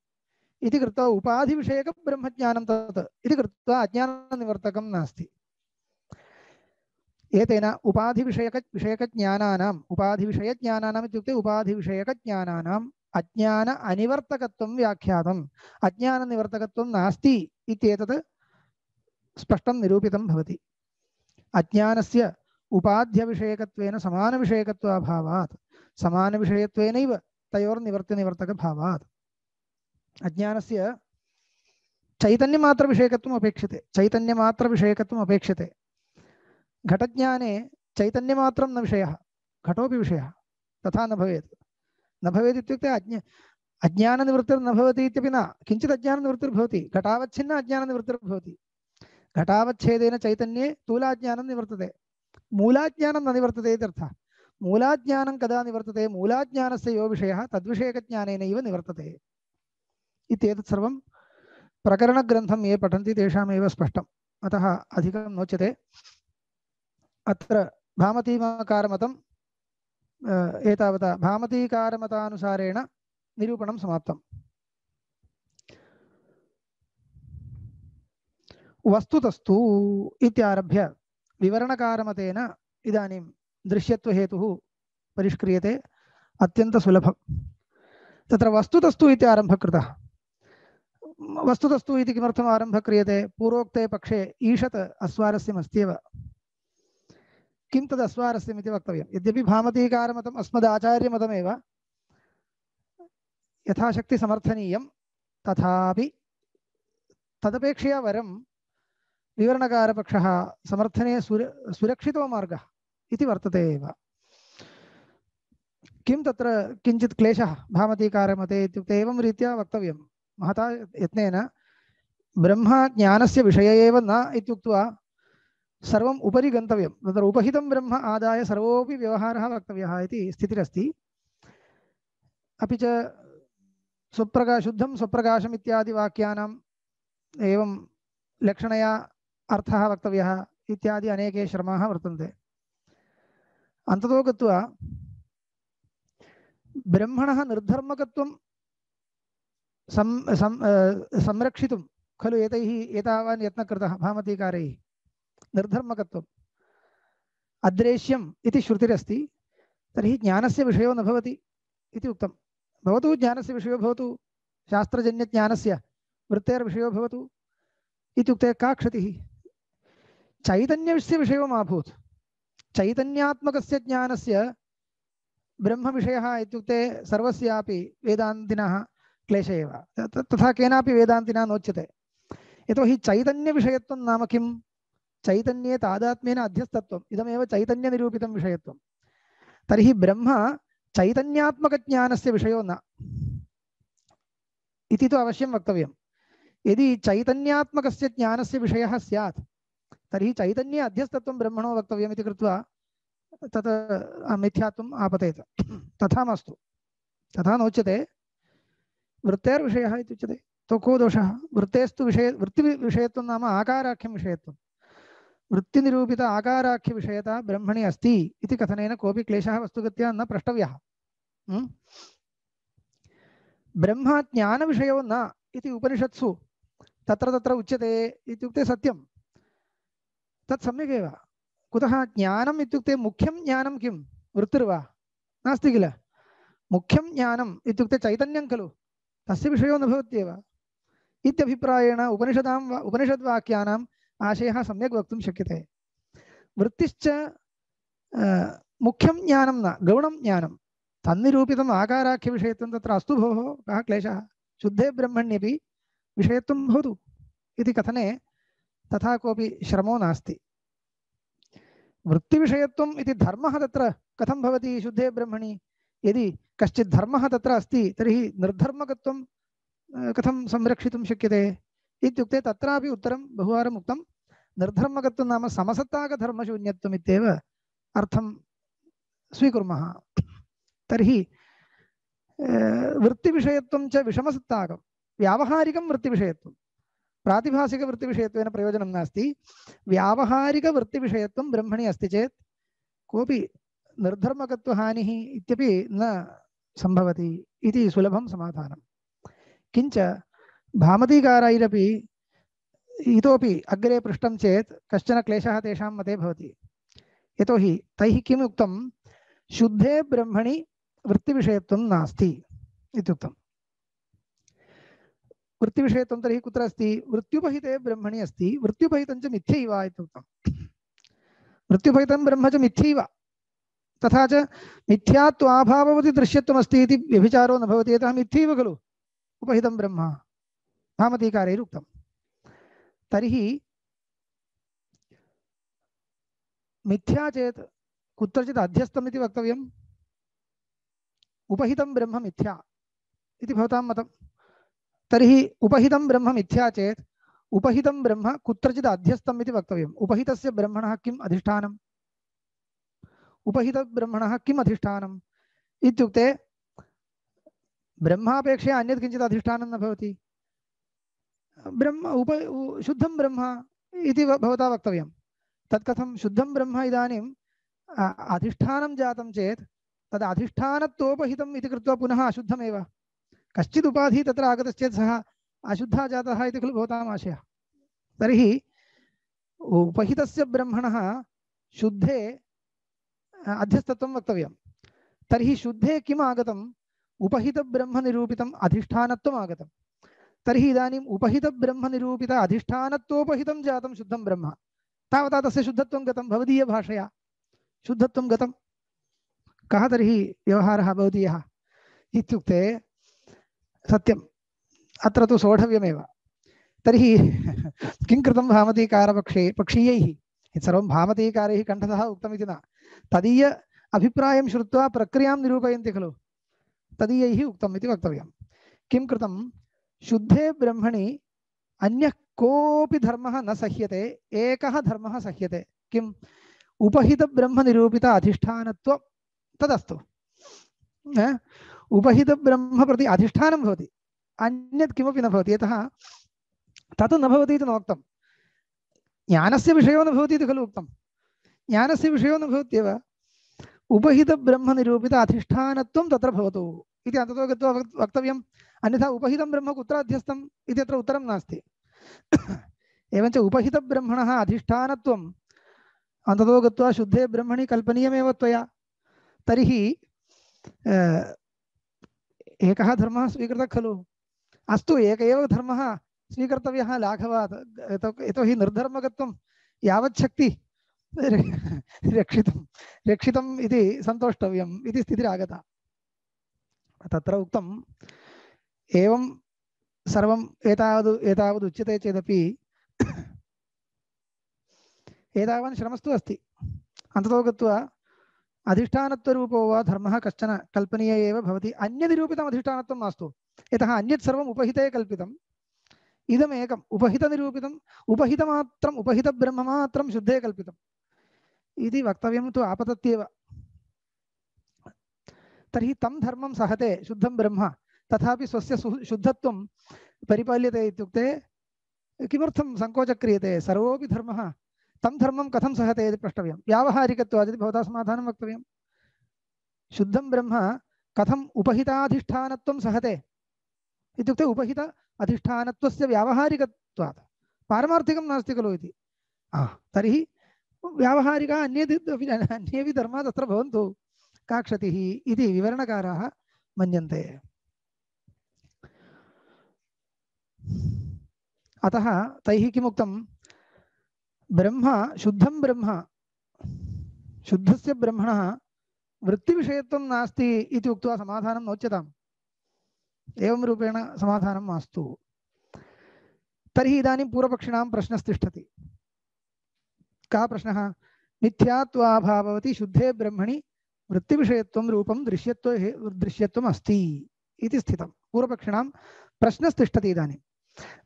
इति कृत्वा उपाधिविषयकं ब्रह्मज्ञानं तत् इति कृत्वा अज्ञाननिवर्तकं नास्ति। एतेन उपाधिविषयकज्ञानानाम् उपाधिविषयज्ञानानाम् इत्युक्ते उपाधिविषयकज्ञानानाम् अज्ञान अनिवर्तकत्वं व्याख्यातम्। अज्ञाननिवर्तकत्वं नास्ति इत्येतत् स्पष्टं निरूपितं भवति। अज्ञानस्य उपाध्यविषयकत्वेन समानविषयकत्वाभावात्, समानविषयत्वेनैव तयोर्निवर्त्यनिवर्तकभावात् अज्ञानस्य चैतन्यमात्रविषयकत्वम् अपेक्षते, चैतन्यमात्रविषयकत्वम् अपेक्षते। घटज्ञाने चैतन्यमात्रं न विषयः, घटोपि विषयः, तथा न भवेत्। न भवेत् इत्युक्ते अज्ञाननिवृत्तिर्न भवति इत्यपि न, किञ्चित् अज्ञाननिवृत्तिर्भवति, घटावच्छिन्न अज्ञाननिवृत्तिर्भवति। घटावच्छेदेन चैतन्ये स्थूलाज्ञानं निवर्तते, मूलाज्ञानं न निवर्तते इत्यर्थः। मूलाज्ञानं कदा निवर्तते? मूलाज्ञानस्य यो विषयः तद्विषयकज्ञानेनैव निवर्तते इत्येतत् सर्वं प्रकरणग्रन्थं ये पठन्ति तेषामेव स्पष्टम्, अतः अधिकं नोच्यते। अत्र भामतीकारमतं एतावता भामतीकारमतानुसारेण निरूपणं समाप्तम्। वस्तुतस्तु इत्यारभ्य विवरणकारमतेन इदानीं दृश्यत्वहेतुः परिष्क्रियते, अत्यन्तसुलभम्। तत्र वस्तुतस्तु इति आरम्भः कृतः। वस्तुतस्तु इति किमर्थम् आरम्भः क्रियते? पूर्वोक्ते पक्षे ईषत् अस्वारस्यम् अस्त्येव। किं तद् अस्वारस्यम् इति वक्तव्यं। यद्यपि भामतीकारमतम् अस्मदाचार्यमतमेव यथाशक्ति समर्थनीयं, तथापि तदपेक्षया वरं विवरणकारपक्षः समर्थने सुरक्षितो मार्गः इति वर्तते एव। किं तत्र किञ्चित् क्लेशः भामतीकारमते इत्युक्ते एवं रीत्या वक्तव्यं महता यत्नेन, ब्रह्मज्ञानस्य विषय एव न इत्युक्त्वा सर्वम् उपरि गन्तव्यं। तत्र उपहितं ब्रह्म आदाय सर्वोपि व्यवहारः वक्तव्यः इति स्थितिरस्ति। अपि च शुद्धं स्वप्रकाशम् इत्यादि वाक्यानाम् एवं लक्षणया अर्थः वक्तव्यः इत्यादि अनेके श्रमाः वर्तन्ते। अन्ततो गत्वा ब्रह्मणः निर्धर्मकत्वं संरक्षितुं खलु एतैः एतावान् यत्नः कृतः भामतीकारैः। निर्धर्मकत्वम् अद्रेश्यम् इति श्रुतिरस्ति, तर्हि ज्ञानस्य विषयो न भवति इति उक्तं। भवतु ज्ञानस्य विषयो भवतु, शास्त्रजन्यज्ञानस्य वृत्तेर्विषयो भवतु इत्युक्ते का क्षतिः? चैतन्यस्य विषयो मा भूत्। चैतन्यात्मकस्य ज्ञानस्य ब्रह्मविषयः इत्युक्ते सर्वस्यापि वेदान्तिनः क्लेश एव। तथा केनापि वेदान्तिना नोच्यते। यतोहि चैतन्यविषयत्वं नाम किं? चैतन्ये तादात्म्येन अध्यस्तत्वम्, इदमेव चैतन्यनिरूपितं विषयत्वं। तर्हि ब्रह्म चैतन्यात्मकज्ञानस्य विषयो न इति तु अवश्यं वक्तव्यं। यदि चैतन्यात्मकस्य ज्ञानस्य विषयः स्यात् तर्हि चैतन्ये अध्यस्तत्वं ब्रह्मणो वक्तव्यम् इति कृत्वा तत् मिथ्यात्वम् आपतेत। तथा मास्तु, तथा नोच्यते। वृत्तेर्विषयः इत्युच्यते, तो को दोषः? वृत्तेस्तु वृत्तिविषयत्वं नाम आकाराख्यं विषयत्वं। वृत्तिनिरूपित आकाराख्यविषयता ब्रह्मणि अस्ति इति कथनेन कोऽपि क्लेशः वस्तुगत्या न प्रष्टव्यः। ब्रह्म ज्ञानविषयो न इति उपनिषत्सु तत्र तत्र उच्यते इत्युक्ते सत्यं, तत् सम्यगेव। कुतः? ज्ञानम् इत्युक्ते मुख्यं ज्ञानं किं? वृत्तिर्वा? नास्ति किल। मुख्यं ज्ञानम् इत्युक्ते चैतन्यं खलु, तस्य विषयो न भवत्येव इत्यभिप्रायेण उपनिषद्वाक्यानाम् आशयः सम्यक् वक्तुं शक्यते। वृत्तिश्च मुख्यं ज्ञानं न, गौणं ज्ञानं। तन्निरूपितम् आकाराख्यविषयत्वं तत्र अस्तु भोः, कः क्लेशः? शुद्धे ब्रह्मण्यपि विषयत्वं भवतु इति कथने तथा कोऽपि श्रमो नास्ति। वृत्तिविषयत्वम् इति धर्मः तत्र कथं भवति शुद्धे ब्रह्मणि? यदि कश्चित् धर्मः तत्र अस्ति तर्हि निर्धर्मकत्वं कथं संरक्षितुं शक्यते इत्युक्ते तत्रापि उत्तरं बहुवारम् उक्तं। निर्धर्मकत्वं नाम समसत्ताकधर्मशून्यत्वम् इत्येव अर्थं स्वीकुर्मः। तर्हि वृत्तिविषयत्वं च विषमसत्ताकं व्यावहारिकं वृत्तिविषयत्वं प्रातिभासिकवृत्तिविषयत्वेन प्रयोजनं नास्ति। व्यावहारिकवृत्तिविषयत्वं ब्रह्मणि अस्ति चेत् कोऽपि निर्धर्मकत्वहानिः इत्यपि न सम्भवति इति सुलभं समाधानं। किञ्च भामतीकारैरपि इतोपि अग्रे पृष्टं चेत् कश्चन क्लेशः तेषां मते भवति। यतोहि तैः किम् उक्तं? शुद्धे ब्रह्मणि वृत्तिविषयत्वं नास्ति इत्युक्तं। वृत्तिविषयत्वं तर्हि कुत्र अस्ति? वृत्त्युपहिते ब्रह्मणि अस्ति। वृत्त्युपहितं च मिथ्यैव इत्युक्तं। वृत्त्युपहितं ब्रह्म च मिथ्यैव, तथा च मिथ्यात्वाभाववति दृश्यत्वमस्ति इति व्यभिचारो न भवति। यतः मिथ्यैव खलु उपहितं ब्रह्म, भामतीकारैरुक्तं। तर्हि मिथ्या चेत् कुत्रचित् अध्यस्तम् इति वक्तव्यम्। उपहितं ब्रह्म मिथ्या इति भवतां मतं। तर्हि उपहितं ब्रह्म मिथ्या चेत् उपहितं ब्रह्म कुत्रचित् अध्यस्तम् इति वक्तव्यम्। उपहितस्य ब्रह्मणः किम् अधिष्ठानम्? उपहितब्रह्मणः किम् अधिष्ठानम् इत्युक्ते ब्रह्मापेक्षया अन्यत् किञ्चित् अधिष्ठानं न भवति। ब्रह्म शुद्धं ब्रह्म इति भवता वक्तव्यं। तत् कथं? शुद्धं ब्रह्म इदानीं अधिष्ठानं जातं चेत् तद् अधिष्ठानत्वोपहितम् इति कृत्वा पुनः अशुद्धमेव। कश्चित् उपाधिः तत्र आगतश्चेत् सः अशुद्धः जातः इति खलु भवताम् आशयः। तर्हि उपहितस्य ब्रह्मणः शुद्धे अध्यस्तत्वं वक्तव्यं। तर्हि शुद्धे किम् आगतम्? उपहितब्रह्मनिरूपितम् अधिष्ठानत्वम् आगतं। तर्हि इदानीम् उपहितब्रह्मनिरूपित अधिष्ठानत्वोपहितं जातं शुद्धं ब्रह्म। तावता तस्य शुद्धत्वं गतं भवदीयभाषया शुद्धत्वं गतं। कः तर्हि व्यवहारः भवदीयः इत्युक्ते सत्यम्, अत्र तु सोढव्यमेव। तर्हि किं कृतं पक्षीयैः? सर्वं भामतीकारैः कण्ठतः उक्तमिति न, तदीय अभिप्रायं श्रुत्वा प्रक्रियां निरूपयन्ति खलु, तदीयैः उक्तम् इति वक्तव्यं। किं कृतं? शुद्धे ब्रह्मणि अन्यः कोऽपि धर्मः न सह्यते, एकः धर्मः सह्यते। किम्? उपहितब्रह्मनिरूपित अधिष्ठानत्वं तदस्तु। उपहितब्रह्म प्रति अधिष्ठानं भवति, अन्यत् किमपि न भवति। यतः तत् न भवति इति नोक्तं। ज्ञानस्य विषयो न भवति इति खलु उक्तं। ज्ञानस्य विषयो न भवत्येव, उपहितब्रह्मनिरूपित अधिष्ठानत्वं तत्र भवतु इति अन्ततो गत्वा वक्तव्यम्। अन्यथा उपहितं ब्रह्म कुत्र अध्यस्तम् इति अत्र उत्तरं नास्ति। एवञ्च उपहितब्रह्मणः अधिष्ठानत्वम् अन्ततो गत्वा शुद्धे ब्रह्मणि कल्पनीयमेव त्वया। तर्हि एकः धर्मः स्वीकृतः खलु। अस्तु, एक एव धर्मः स्वीकर्तव्यः लाघवात्। यतोहि निर्धर्मकत्वं यावच्छक्ति रक्षितम् इति सन्तोष्टव्यम् इति स्थितिरागता। तत्र उक्तम् एवं सर्वम् एतावद् उच्यते चेदपि एतावान् श्रमस्तु अस्ति। अन्ततो गत्वा अधिष्ठानत्वरूपो वा धर्मः कश्चन कल्पनीय एव भवति। अन्यनिरूपितम् अधिष्ठानत्वं मास्तु, यतः अन्यत् सर्वम् उपहिते कल्पितम्। इदमेकम् उपहितनिरूपितम्, उपहितमात्रम्, उपहितब्रह्ममात्रं शुद्धे कल्पितम् इति वक्तव्यं तु आपतत्येव। तर्हि तं धर्मं सहते शुद्धं ब्रह्म, तथापि स्वस्य शुद्धत्वं परिपाल्यते इत्युक्ते किमर्थं सङ्कोचः क्रियते? सर्वोऽपि धर्मः तं धर्मं कथं सहते इति प्रष्टव्यं। व्यावहारिकत्वात् इति भवता समाधानं वक्तव्यं। शुद्धं ब्रह्म कथम् उपहिताधिष्ठानत्वं सहते इत्युक्ते उपहित अधिष्ठानत्वस्य व्यावहारिकत्वात्, पारमार्थिकं नास्ति खलु इति। तर्हि व्यावहारिक अन्येपि धर्माः तत्र भवन्तु, का क्षतिः इति विवरणकाराः मन्यन्ते। अतः तैः किमुक्तं? ब्रह्म शुद्धं ब्रह्म, शुद्धस्य ब्रह्मणः वृत्तिविषयत्वं नास्ति इति उक्त्वा समाधानं नोच्यताम्। एवं रूपेण समाधानं मास्तु। तर्हि इदानीं पूर्वपक्षिणां प्रश्नस्तिष्ठति। कः प्रश्नः? मिथ्यात्वाभाववति शुद्धे ब्रह्मणि वृत्तिविषयत्वं रूपं दृश्यत्वम् अस्ति इति स्थितं। पूर्वपक्षिणां प्रश्नस्तिष्ठति इदानीं।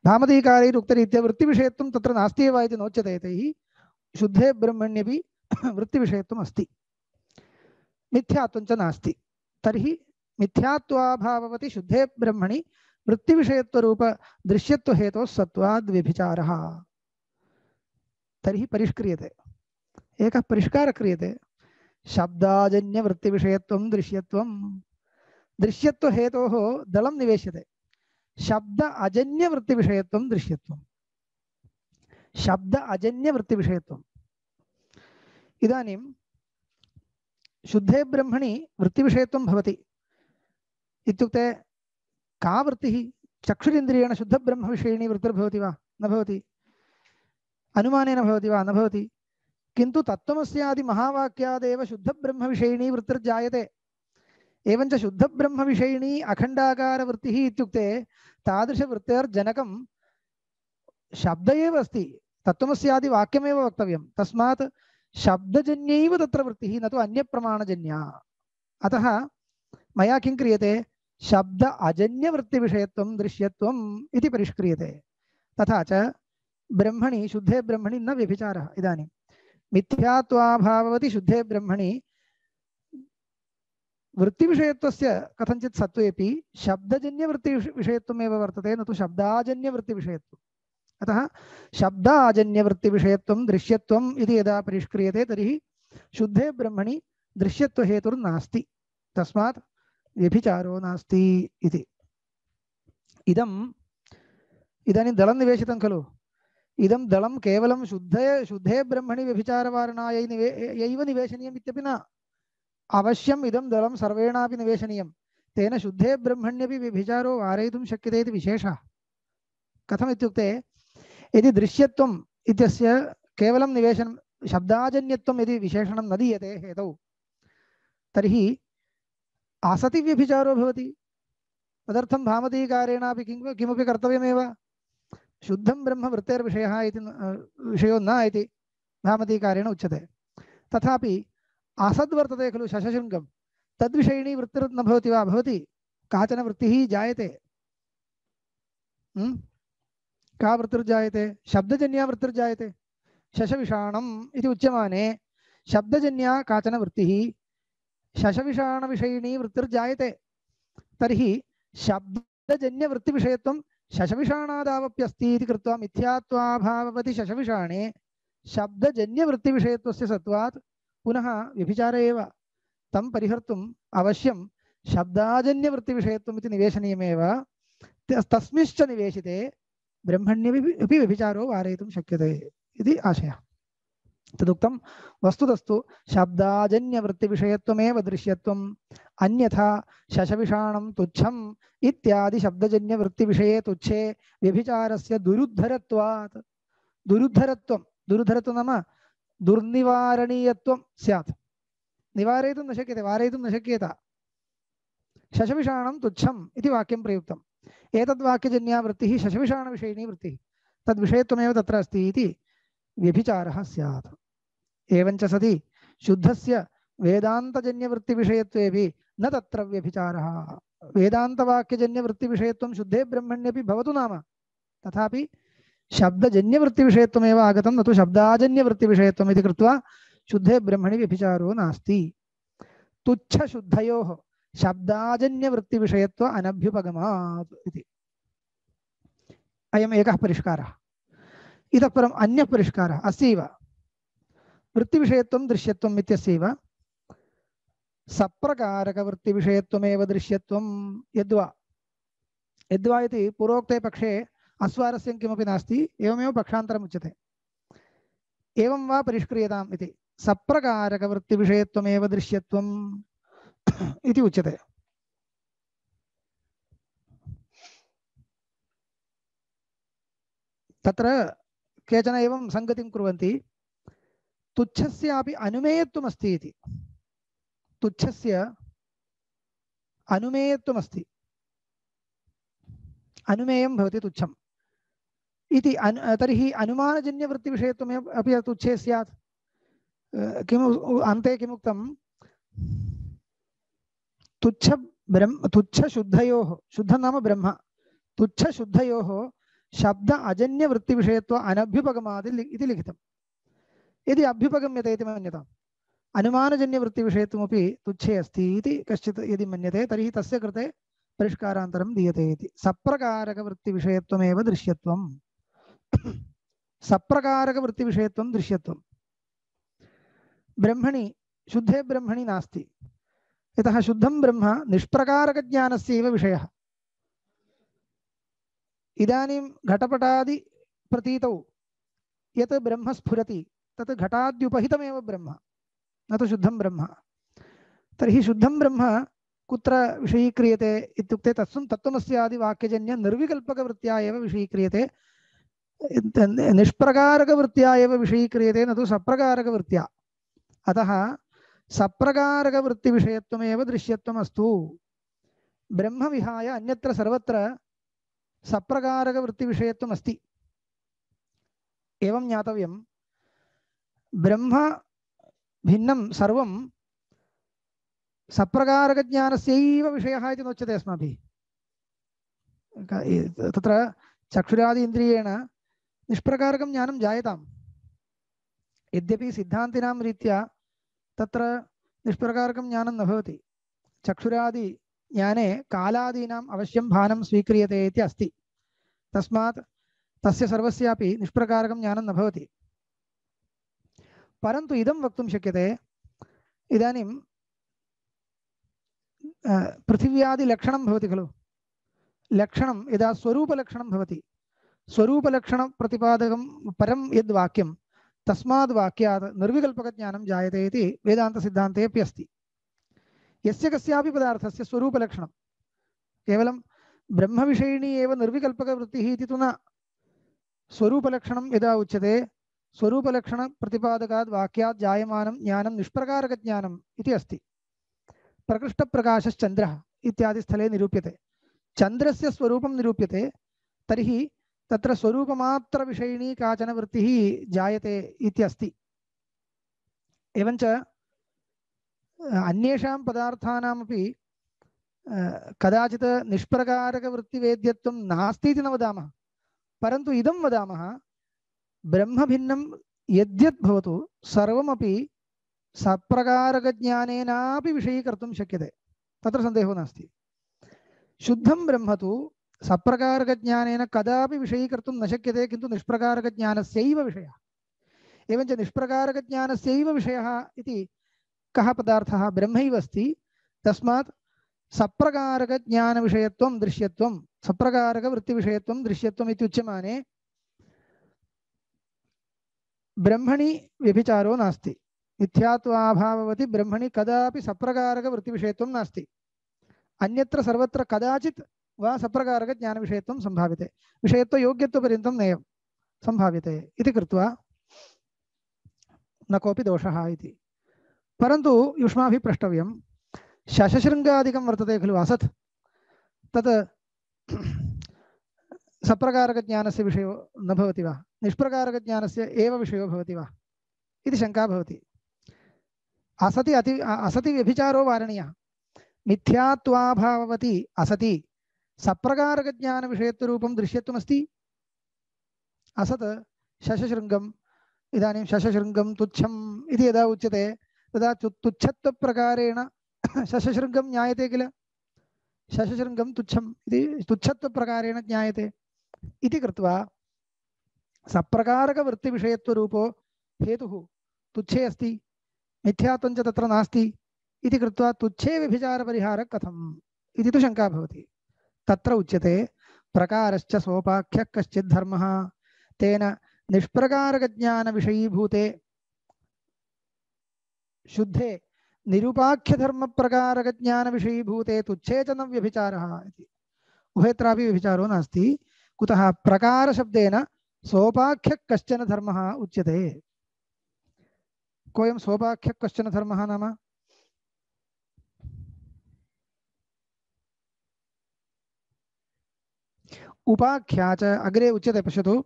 भामतीकारैरुक्तरीत्या वृत्तिविषयत्वं तत्र नास्ति एव इति नोच्यते। तैः शुद्धे ब्रह्मण्यपि वृत्तिविषयत्वम् अस्ति, मिथ्यात्वं च नास्ति। तर्हि मिथ्यात्वाभाववति शुद्धे ब्रह्मणि वृत्तिविषयत्वरूप दृश्यत्वहेतोः सत्त्वाद् व्यभिचारः। तर्हि परिष्क्रियते, एकः परिष्कारः क्रियते। शब्दाजन्यवृत्तिविषयत्वं दृश्यत्वं, दृश्यत्वहेतोः दलं निवेश्यते। शब्द अजन्यवृत्तिविषयत्वं दृश्यत्वं, शब्द अजन्यवृत्तिविषयत्वम्। इदानीं शुद्धे ब्रह्मणि वृत्तिविषयत्वं भवति इत्युक्ते का वृत्तिः? चक्षुरिन्द्रियेण शुद्धब्रह्मविषयिणी वृत्तिर्भवति वा? न भवति। अनुमानेन भवति वा? न भवति। किन्तु तत्त्वमस्यादि महावाक्यादेव शुद्धब्रह्मविषयिणी वृत्तिर्जायते। एवञ्च शुद्धब्रह्मविषयिणी अखण्डाकारवृत्तिः इत्युक्ते तादृशवृत्तेर्जनकं शब्द एव अस्ति, तत्त्वमस्यादि वाक्यमेव वक्तव्यं। तस्मात् शब्दजन्यैव तत्र वृत्तिः, न तु अन्यप्रमाणजन्या। अतः मया किं क्रियते? शब्द अजन्यवृत्तिविषयत्वं दृश्यत्वम् इति परिष्क्रियते। तथा च ब्रह्मणि, शुद्धे ब्रह्मणि न व्यभिचारः। इदानीं मिथ्यात्वाभाववति शुद्धे ब्रह्मणि वृत्तिविषयत्वस्य कथञ्चित् सत्त्वेपि शब्दजन्यवृत्तिविषयत्वमेव वर्तते, न तु शब्दाजन्यवृत्तिविषयत्वम्। अतः शब्दाजन्यवृत्तिविषयत्वं दृश्यत्वम् इति यदा परिष्क्रियते तर्हि शुद्धे ब्रह्मणि दृश्यत्वहेतुर्नास्ति, तस्मात् व्यभिचारो नास्ति इति। इदानीं दलं निवेशितं खलु। इदं दलं केवलं शुद्धे ब्रह्मणि व्यभिचारवारणायैव निवेशनीयम् इत्यपि न। अवश्यम् इदं दलं सर्वेणापि निवेशनीयं। तेन शुद्धे ब्रह्मण्यपि व्यभिचारो वारयितुं शक्यते इति विशेषः। कथमित्युक्ते यदि दृश्यत्वम् इत्यस्य केवलं निवेशनं, शब्दाजन्यत्वम् यदि विशेषणं न दीयते हेतौ, तर्हि असति व्यभिचारो भवति। तदर्थं भामतीकारेणापि किमपि कर्तव्यमेव। शुद्धं ब्रह्म वृत्तेर्विषयः इति विषयो न इति भामतीकारेण उच्यते। तथापि असद्वर्तते खलु शशशृङ्गं, तद्विषयिणी वृत्तिर्न भवति वा? भवति। काचन वृत्तिः जायते। का वृत्तिर्जायते? शब्दजन्या वृत्तिर्जायते। शशविषाणम् इति उच्यमाने शब्दजन्या काचन वृत्तिः, शशविषाणविषयिणी वृत्तिर्जायते। तर्हि शब्दजन्यवृत्तिविषयत्वं शशविषाणादावप्यस्ति इति कृत्वा मिथ्यात्वाभाववति शशविषाणे शब्दजन्यवृत्तिविषयत्वस्य सत्त्वात् पुनः व्यभिचार एव। तं परिहर्तुम् अवश्यं शब्दाजन्यवृत्तिविषयत्वम् इति निवेशनीयमेव। तस्मिंश्च निवेशिते ब्रह्मण्यपि व्यभिचारो वारयितुं शक्यते इति आशयः। तदुक्तं वस्तुतस्तु शब्दाजन्यवृत्तिविषयत्वमेव दृश्यत्वम्, अन्यथा शशविषाणं तुच्छम् इत्यादि शब्दजन्यवृत्तिविषये तुच्छे व्यभिचारस्य दुरुद्धरत्वात्। दुरुद्धरत्वं नाम दुर्निवारणीयत्वं स्यात्। निवारयितुं न शक्यते, वारयितुं न शक्येत। शशविषाणं तुच्छम् इति वाक्यं प्रयुक्तम्। एतद्वाक्यजन्या वृत्तिः शशविषाणविषयिणी वृत्तिः, तद्विषयत्वमेव तत्र अस्ति इति व्यभिचारः स्यात्। एवञ्च सति शुद्धस्य वेदान्तजन्यवृत्तिविषयत्वेपि न तत्र व्यभिचारः। वेदान्तवाक्यजन्यवृत्तिविषयत्वं शुद्धे ब्रह्मण्यपि भवतु नाम, तथापि शब्दजन्यवृत्तिविषयत्वमेव आगतं, न तु शब्दाजन्यवृत्तिविषयत्वम् इति कृत्वा शुद्धे ब्रह्मणि व्यभिचारो नास्ति। तुच्छशुद्धयोः शब्दाजन्यवृत्तिविषयत्व अनभ्युपगमात् इति अयम् एकः परिष्कारः। इतः परम् अन्यः परिष्कारः अस्यैव वृत्तिविषयत्वं दृश्यत्वम् इत्यस्यैव सप्रकारकवृत्तिविषयत्वमेव दृश्यत्वं यद्वा इति पूर्वोक्ते पक्षे अस्वारस्यं किमपि नास्ति, एवमेव पक्षान्तरम् उच्यते। एवं वा परिष्क्रियताम् इति सप्रकारकवृत्तिविषयत्वमेव दृश्यत्वम् इति उच्यते। तत्र केचन एवं संगतिं कुर्वन्ति, तुच्छस्यापि अनुमेयत्वमस्ति इति। तुच्छस्य अनुमेयत्वमस्ति, अनुमेयं भवति तुच्छम् इति तर्हि अनुमानजन्यवृत्तिविषयत्वमेव अपि तुच्छे स्यात्। किम् अन्ते किमुक्तं तुच्छशुद्धयोः शुद्धं नाम ब्रह्म तुच्छशुद्धयोः शब्द अजन्यवृत्तिविषयत्व अनभ्युपगमादि इति लिखितं। यदि अभ्युपगम्यते इति मन्यताम् अनुमानजन्यवृत्तिविषयत्वमपि तुच्छे अस्ति इति कश्चित् यदि मन्यते तर्हि तस्य कृते परिष्कारान्तरं दीयते इति। सप्रकारकवृत्तिविषयत्वमेव दृश्यत्वं सप्रकारकवृत्तिविषयत्वं दृश्यत्वं ब्रह्मणि शुद्धे ब्रह्मणि नास्ति। यतः शुद्धं ब्रह्म निष्प्रकारकज्ञानस्यैव विषयः। इदानीं घटपटादि प्रतीतौ यत् ब्रह्म स्फुरति तत् घटाद्युपहितमेव ब्रह्म न तु शुद्धं ब्रह्म। तर्हि शुद्धं ब्रह्म कुत्र विषयीक्रियते इत्युक्ते तत्त्वमस्यादि वाक्यजन्य निर्विकल्पकवृत्त्या एव विषयीक्रियते। निष्प्रकारकवृत्त्या एव विषयीक्रियते न तु सप्रकारकवृत्त्या। अतः सप्रकारकवृत्तिविषयत्वमेव दृश्यत्वमस्तु। ब्रह्म विहाय अन्यत्र सर्वत्र सप्रकारकवृत्तिविषयत्वमस्ति। एवं ज्ञातव्यं ब्रह्म भिन्नं सर्वं सप्रकारकज्ञानस्यैव विषयः इति नोच्यते अस्माभिः। तत्र चक्षुरादि इन्द्रियेण निष्प्रकारकं ज्ञानं जायताम्। यद्यपि सिद्धान्तिनां रीत्या तत्र निष्प्रकारकं ज्ञानं न भवति। चक्षुरादि ज्ञाने कालादीनाम् अवश्यं भानं स्वीक्रियते इति अस्ति। तस्मात् तस्य सर्वस्यापि निष्प्रकारकं ज्ञानं न भवति। परन्तु इदं वक्तुं शक्यते इदानीं पृथिव्यादिलक्षणं भवति खलु। लक्षणं यदा स्वरूपलक्षणं भवति स्वरूपलक्षणप्रतिपादकं परं यद्वाक्यं तस्माद् वाक्यात् निर्विकल्पकज्ञानं जायते इति वेदान्तसिद्धान्तेऽपि अस्ति। यस्य कस्यापि पदार्थस्य स्वरूपलक्षणं केवलं ब्रह्मविषयिणी एव निर्विकल्पकवृत्तिः इति तु न। स्वरूपलक्षणं यदा उच्यते स्वरूपलक्षणप्रतिपादकात् वाक्यात् जायमानं ज्ञानं निष्प्रकारकज्ञानम् इति अस्ति। प्रकृष्टप्रकाशश्चन्द्रः इत्यादि स्थले निरूप्यते। चन्द्रस्य स्वरूपं निरूप्यते तर्हि तत्र स्वरूपमात्रविषयिणी काचन वृत्तिः जायते इत्यस्ति। एवञ्च अन्येषां पदार्थानामपि कदाचित् निष्प्रकारकवृत्तिवेद्यत्वं नास्ति इति न वदामः। परन्तु इदं वदामः ब्रह्मभिन्नं यद्यद् भवतु सर्वमपि सप्रकारकज्ञानेनापि विषयीकर्तुं शक्यते। तत्र सन्देहो नास्ति। शुद्धं ब्रह्म तु सप्रकारकज्ञानेन कदापि विषयीकर्तुं न शक्यते, किन्तु निष्प्रकारकज्ञानस्यैव विषयः। एवञ्च निष्प्रकारकज्ञानस्यैव विषयः इति कः पदार्थः ब्रह्मैव अस्ति। तस्मात् सप्रकारकज्ञानविषयत्वं दृश्यत्वं सप्रकारकवृत्तिविषयत्वं दृश्यत्वम् इत्युच्यमाने ब्रह्मणि व्यभिचारो नास्ति। मिथ्यात्वाभाववति ब्रह्मणि कदापि सप्रकारकवृत्तिविषयत्वं नास्ति। अन्यत्र सर्वत्र कदाचित् वा सप्रकारकज्ञानविषयत्वं सम्भाव्यते। विषयत्वयोग्यत्वपर्यन्तं नैव सम्भाव्यते इति कृत्वा न कोऽपि दोषः इति। परन्तु युष्माभिः प्रष्टव्यं शशशृङ्गादिकं वर्तते खलु असत्, तत् सप्रकारकज्ञानस्य विषयो न भवति वा, निष्प्रकारकज्ञानस्य एव विषयो भवति वा इति शङ्का भवति। असति व्यभिचारो वारणीयः। मिथ्यात्वाभाववति असति सप्रकारकज्ञानविषयत्वरूपं दृश्यत्वमस्ति। असत् शशशृङ्गम्, इदानीं शशशृङ्गं तुच्छम् इति यदा उच्यते तदा तुच्छत्वप्रकारेण शशशृङ्गं ज्ञायते किल। शशशृङ्गं तुच्छम् इति तुच्छत्वप्रकारेण ज्ञायते इति कृत्वा सप्रकारकवृत्तिविषयत्वरूपो हेतुः तुच्छे अस्ति, मिथ्यात्वं च तत्र नास्ति इति कृत्वा तुच्छे व्यभिचारपरिहारः कथम् इति तु शङ्का भवति। तत्र उच्यते प्रकारश्च सोपाख्यः कश्चित् धर्मः तेन निष्प्रकारकज्ञानविषयीभूते शुद्धे निरुपाख्यधर्मप्रकारकज्ञानविषयीभूते तुच्छे च न व्यभिचारः इति। उभयत्रापि व्यभिचारो नास्ति। कुतः प्रकारशब्देन सोपाख्यः कश्चन धर्मः उच्यते। कोऽयं सोपाख्यः कश्चन धर्मः नाम उपाख्या च अग्रे उच्यते। पश्यतु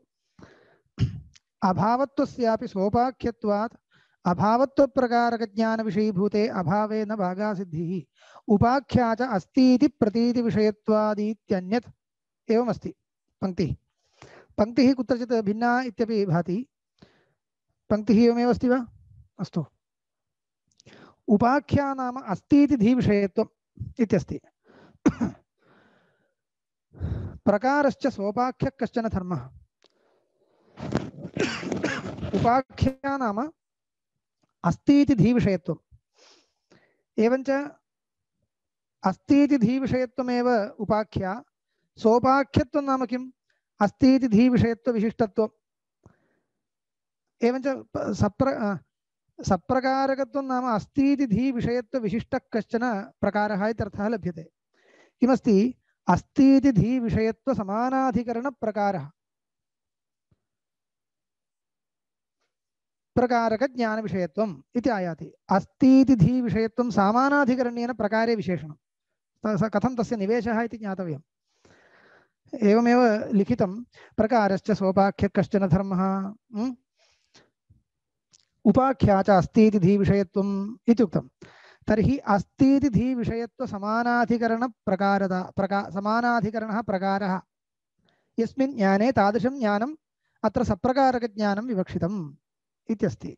अभावत्वस्यापि सोपाख्यत्वात् अभावत्वप्रकारकज्ञानविषयीभूते अभावे न भागासिद्धिः उपाख्या च अस्तीति प्रतीतिविषयत्वादीत्यन्यत् एवमस्ति पंक्तिः। पंक्तिः कुत्रचित् भिन्ना इत्यपि भाति। पंक्तिः एवमेव अस्ति वा? अस्तु। उपाख्या नाम अस्तीति धीविषयत्वम् इत्यस्ति। प्रकारश्च सोपाख्यः कश्चन धर्मः। उपाख्या नाम अस्तीति धीविषयत्वम्। एवञ्च अस्तीति धीविषयत्वमेव उपाख्या। सोपाख्यत्वं नाम किम्? अस्तीति धीविषयत्वविशिष्टत्वम्। एवञ्च सप्रकारकत्वं नाम अस्तीति धीविषयत्वविशिष्टः कश्चन प्रकारः इत्यर्थः लभ्यते। किमस्ति? अस्तीति धीविषयत्वसमानाधिकरणप्रकारः। प्रकारकज्ञानविषयत्वम् इति आयाति। अस्तीति धीविषयत्वं सामानाधिकरणेन प्रकारे विशेषणं। कथं तस्य निवेशः इति ज्ञातव्यम्। एवमेव लिखितं प्रकारश्च सोपाख्यः कश्चन धर्मः उपाख्या च अस्तीति धीविषयत्वम् इत्युक्तं। तर्हि अस्तीति धीविषयत्वसमानाधिकरणः प्रकारः यस्मिन् ज्ञाने तादृशं ज्ञानम् अत्र सप्रकारकज्ञानं विवक्षितम् इत्यस्ति।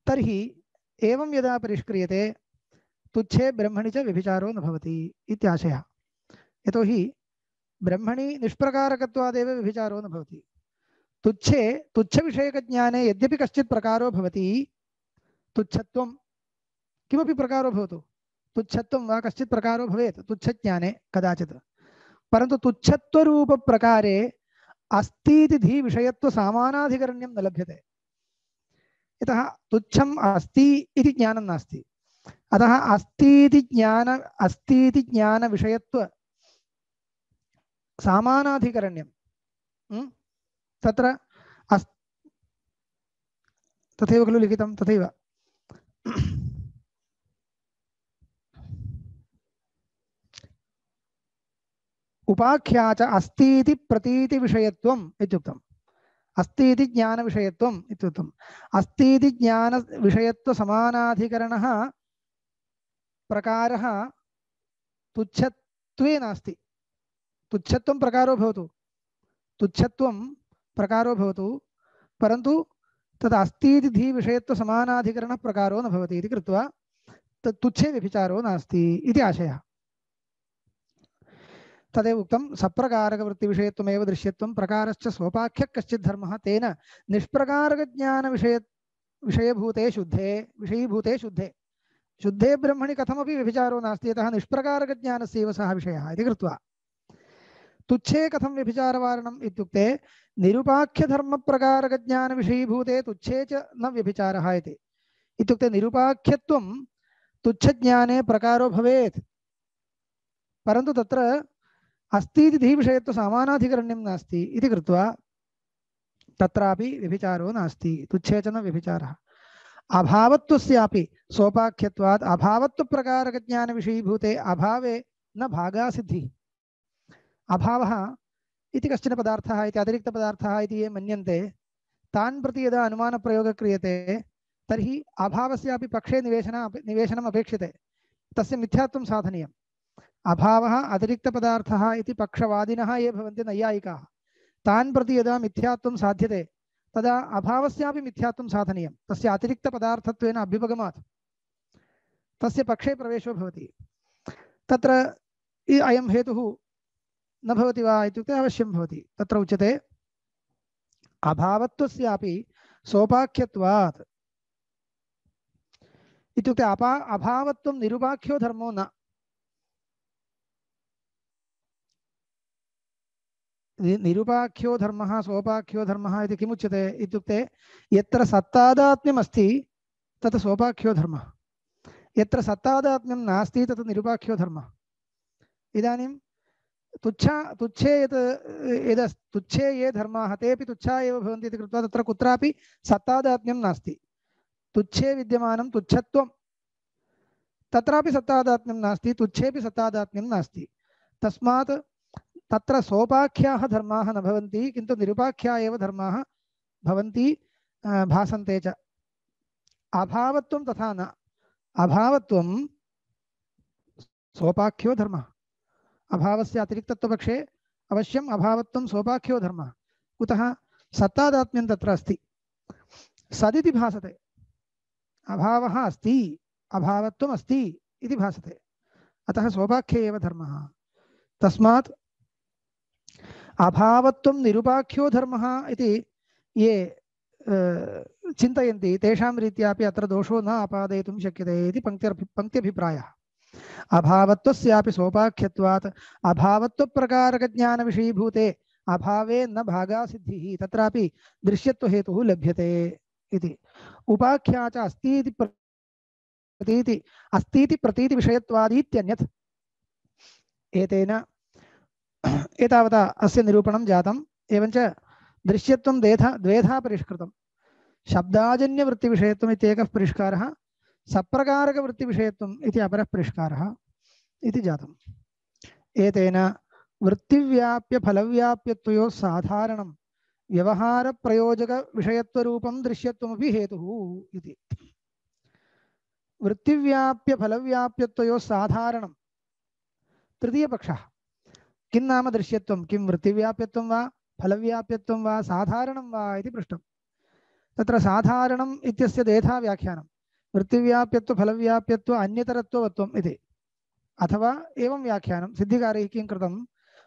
तर्हि एवं यदा परिष्क्रियते तुच्छे ब्रह्मणि च व्यभिचारो न भवति इत्याशयः। यतोहि ब्रह्मणि निष्प्रकारकत्वादेव व्यभिचारो न भवति। तुच्छे तुच्छविषयकज्ञाने यद्यपि कश्चित् प्रकारो भवति, तुच्छत्वं किमपि प्रकारो भवतु, तुच्छत्वं वा कश्चित् प्रकारो भवेत् तुच्छज्ञाने कदाचित्, परन्तु तुच्छत्वरूपप्रकारे अस्तीति धीविषयत्वसामानाधिकरण्यं न लभ्यते। यतः तुच्छम् अस्ति इति ज्ञानं नास्ति। अतः अस्तीति ज्ञानविषयत्व सामानाधिकरण्यं तत्र तथैव खलु लिखितं। तथैव उपाख्या च अस्तीति प्रतीतिविषयत्वम् इत्युक्तम्। अस्तीति ज्ञानविषयत्वम् इत्युक्तम्। अस्तीति ज्ञानविषयत्वसमानाधिकरणः प्रकारः तुच्छत्वे नास्ति। तुच्छत्वं प्रकारो भवतु, तुच्छत्वं प्रकारो भवतु, परन्तु तद् अस्तीति धीविषयत्वसमानाधिकरणः प्रकारो न भवति इति कृत्वा तुच्छे व्यभिचारो नास्ति इति आशयः। तदेव उक्तं सप्रकारकवृत्तिविषयत्वमेव दृश्यत्वं प्रकारश्च सोपाख्यः कश्चित् धर्मः तेन निष्प्रकारकज्ञानविषयभूते शुद्धे विषयीभूते शुद्धे शुद्धे ब्रह्मणि कथमपि व्यभिचारो नास्ति। यतः निष्प्रकारकज्ञानस्यैव सः विषयः इति कृत्वा तुच्छे कथं व्यभिचारवारणम् इत्युक्ते निरुपाख्यधर्मप्रकारकज्ञानविषयीभूते तुच्छे च न व्यभिचारः इति। इत्युक्ते निरुपाख्यत्वं तुच्छज्ञाने प्रकारो भवेत्, परन्तु तत्र अस्तीति धीविषयत्वसामानाधिकरण्यं नास्ति इति कृत्वा तत्रापि व्यभिचारो नास्ति। तुच्छे च न व्यभिचारः। अभावत्वस्यापि सोपाख्यत्वात् अभावत्वप्रकारकज्ञानविषयीभूते अभावे न भागासिद्धिः। अभावः इति कश्चन पदार्थः इति अतिरिक्तपदार्थः इति ये मन्यन्ते तान् प्रति यदा अनुमानप्रयोगः क्रियते तर्हि अभावस्यापि पक्षे निवेशनम् अपेक्षते। तस्य मिथ्यात्वं साधनीयम्। अभावः अतिरिक्तपदार्थः इति पक्षवादिनः ये भवन्ति नैयायिकाः, तान् प्रति यदा मिथ्यात्वं साध्यते तदा अभावस्यापि मिथ्यात्वं साधनीयं। तस्य अतिरिक्तपदार्थत्वेन अभ्युपगमात् तस्य पक्षे प्रवेशो भवति। तत्र अयं हेतुः न भवति वा इत्युक्ते अवश्यं भवति। तत्र उच्यते अभावत्वस्यापि सोपाख्यत्वात् इत्युक्ते अभावत्वं निरुपाख्यो धर्मो न। निरुपाख्यो धर्मः सोपाख्यो धर्मः इति किमुच्यते इत्युक्ते यत्र सत्तादात्म्यम् अस्ति तत् सोपाख्यो धर्मः, यत्र सत्तादात्म्यं नास्ति तत् निरुपाख्यो धर्मः। इदानीं तुच्छे ये धर्माः तेपि तुच्छा एव भवन्ति इति कृत्वा तत्र कुत्रापि सत्तादात्म्यं नास्ति। तुच्छे विद्यमानं तुच्छत्वं तत्रापि सत्तादात्म्यं नास्ति, तुच्छेपि सत्तादात्म्यं नास्ति। तस्मात् तत्र सोपाख्याः धर्माः न भवन्ति किन्तु निरुपाख्या एव धर्माः भवन्ति भासन्ते च अभावत्वं तथा न अभावत्वं सोपाख्यो धर्मः अभावस्य अतिरिक्तत्वपक्षे अवश्यम् अभावत्वं सोपाख्यो धर्मः कुतः सत्तादात्म्यं तत्र अस्ति सदिति भासते अभावः अस्ति अभावत्वम् अस्ति इति भासते अतः सोपाख्ये एव धर्मः तस्मात् अभावत्वं निरुपाख्यो धर्मः इति ये चिन्तयन्ति तेषां रीत्यापि अत्र दोषो न आपादयितुं शक्यते इति पङ्क्त्यभिप्रायः अभावत्वस्यापि सोपाख्यत्वात् अभावत्वप्रकारकज्ञानविषयीभूते अभावे न भागासिद्धिः तत्रापि दृश्यत्वहेतुः लभ्यते इति उपाख्या च अस्तीति प्रतीति विषयत्वादीत्यन्यत् एतेन एतावता अस्य निरूपणं जातम् एवञ्च दृश्यत्वं द्वेधा परिष्कृतं शब्दाजन्यवृत्तिविषयत्वम् इत्येकः परिष्कारः सप्रकारकवृत्तिविषयत्वम् इति अपरः परिष्कारः इति जातम् एतेन वृत्तिव्याप्य फलव्याप्यत्वयोः साधारणं व्यवहारप्रयोजकविषयत्वरूपं दृश्यत्वमपि हेतुः इति वृत्तिव्याप्य फलव्याप्यत्वयोः साधारणं तृतीयपक्षः किं नाम दृश्यत्वं किं वृत्तिव्याप्यत्वं वा फलव्याप्यत्वं वा साधारणं वा इति पृष्टं तत्र साधारणम् इत्यस्य द्वेधा व्याख्यानं वृत्तिव्याप्यत्व फलव्याप्यत्व अन्यतरत्ववत्वम् इति अथवा एवं व्याख्यानं सिद्धिकारैः किं कृतं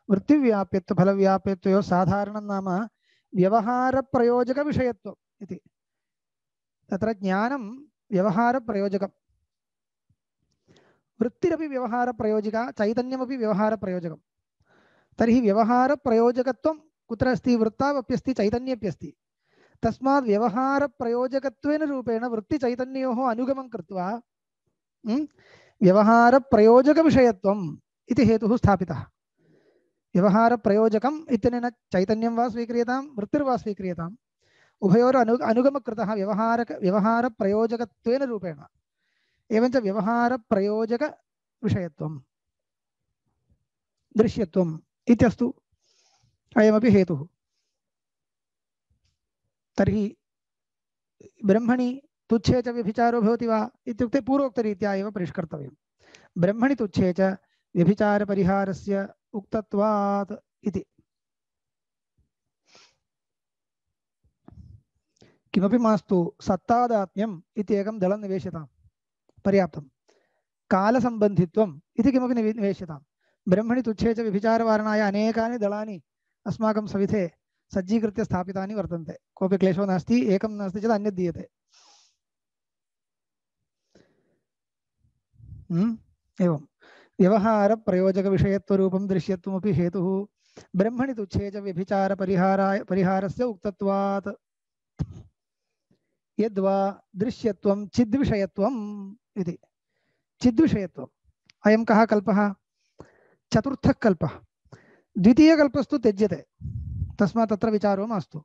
वृत्तिव्याप्यत्व फलव्याप्यत्वयोः साधारणं नाम व्यवहारप्रयोजकविषयत्वम् इति तत्र ज्ञानं व्यवहारप्रयोजकं वृत्तिरपि व्यवहारप्रयोजिका चैतन्यमपि व्यवहारप्रयोजकं तर्हि व्यवहारप्रयोजकत्वं कुत्र अस्ति वृत्तावप्यस्ति चैतन्येऽप्यस्ति तस्मात् व्यवहारप्रयोजकत्वेन रूपेण वृत्तिचैतन्योः अनुगमं कृत्वा व्यवहारप्रयोजकविषयत्वम् इति हेतुः स्थापितः व्यवहारप्रयोजकम् इत्यनेन चैतन्यं वा स्वीक्रियतां वृत्तिर्वा स्वीक्रियताम् उभयोर अनुगमकृतः व्यवहारप्रयोजकत्वेन रूपेण एवञ्च व्यवहारप्रयोजकविषयत्वं दृश्यत्वम् इत्यस्तु अयमपि हेतुः तर्हि ब्रह्मणि तुच्छे च व्यभिचारो भवति वा इत्युक्ते पूर्वोक्तरीत्या एव परिष्कर्तव्यं ब्रह्मणि तुच्छे च व्यभिचारपरिहारस्य उक्तत्वात् इति किमपि मास्तु सत्तादात्म्यम् इति एकं दलं निवेश्यतां पर्याप्तं कालसम्बन्धित्वम् इति किमपि निवेश्यतां ब्रह्मणि तुच्छे च व्यभिचारवारणाय अनेकानि दलानि अस्माकं सविधे सज्जीकृत्य स्थापितानि वर्तन्ते कोऽपि क्लेशो नास्ति एकं नास्ति चेत् अन्यत् दीयते एवं व्यवहारप्रयोजकविषयत्वरूपं दृश्यत्वमपि हेतुः ब्रह्मणि तुच्छे च व्यभिचारपरिहारस्य उक्तत्वात् यद्वा दृश्यत्वं चिद्विषयत्वम् इति चिद्विषयत्वम् अयं कः कल्पः चतुर्थः कल्पः द्वितीयकल्पस्तु त्यज्यते तस्मात् तत्र विचारो मास्तु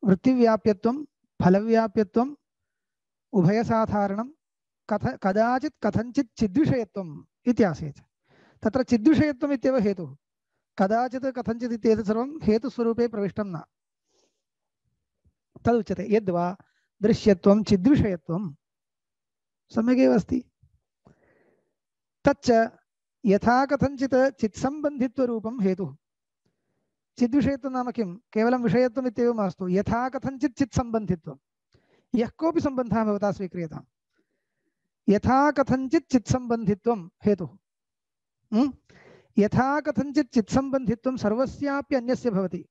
वृत्तिव्याप्यत्वं फलव्याप्यत्वम् उभयसाधारणं कदाचित् कथञ्चित् चिद्विषयत्वम् इति आसीत् तत्र चिद्विषयत्वम् इत्येव हेतुः कदाचित् कथञ्चित् इत्येतत् सर्वं हेतुस्वरूपे प्रविष्टं न तदुच्यते यद्वा दृश्यत्वं चिद्विषयत्वं सम्यगेव अस्ति तच्च यथा कथञ्चित् चित्सम्बन्धित्वरूपं हेतुः चिद्विषयत्वं नाम किं केवलं विषयत्वम् इत्येव मास्तु यथा कथञ्चित् चित्सम्बन्धित्वं यः कोऽपि सम्बन्धः भवता स्वीक्रियताम् यथा कथञ्चित् चित्सम्बन्धित्वं हेतुः यथा कथञ्चित् चित्सम्बन्धित्वं सर्वस्यापि अन्यस्य भवति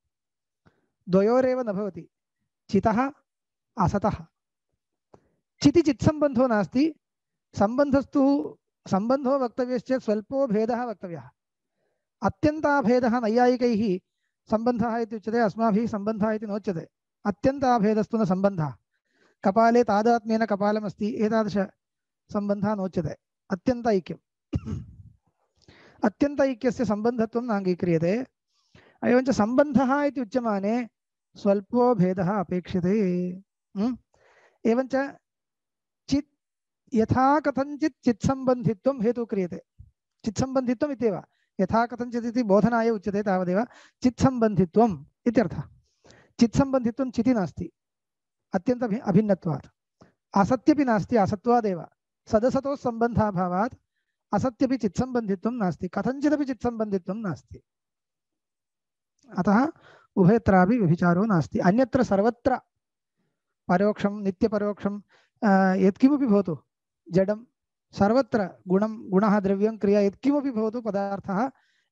द्वयोरेव न भवति चितः असतः चिति चित्सम्बन्धो नास्ति सम्बन्धस्तु सम्बन्धो वक्तव्यश्चेत् स्वल्पो भेदः वक्तव्यः अत्यन्ताभेदः नैयायिकैः सम्बन्धः इत्युच्यते अस्माभिः सम्बन्धः इति नोच्यते अत्यन्ताभेदस्तु न सम्बन्धः कपाले तादात्म्येन कपालमस्ति एतादृश सम्बन्धः नोच्यते अत्यन्तैक्यम् अत्यन्तैक्यस्य सम्बन्धत्वं नाङ्गीक्रियते एवञ्च सम्बन्धः इति उच्यमाने स्वल्पो भेदः अपेक्षते एवञ्च चित् यथा कथञ्चित् चित्सम्बन्धित्वं हेतु क्रियते चित्सम्बन्धित्वम् इत्येव यथा कथञ्चित् इति बोधनाय उच्यते तावदेव चित्सम्बन्धित्वम् इत्यर्थः चित्सम्बन्धित्वं चिति नास्ति अत्यन्त अभिन्नत्वात् असत्यपि नास्ति असत्वादेव सदसतो सम्बन्धाभावात् असत्यपि चित्सम्बन्धित्वं नास्ति कथञ्चिदपि चित्सम्बन्धित्वं नास्ति अतः उभयत्रापि व्यभिचारो नास्ति अन्यत्र सर्वत्र परोक्षं नित्यपरोक्षं यत्किमपि भवतु जडं सर्वत्र गुणः द्रव्यं क्रिया यत्किमपि भवतु पदार्थः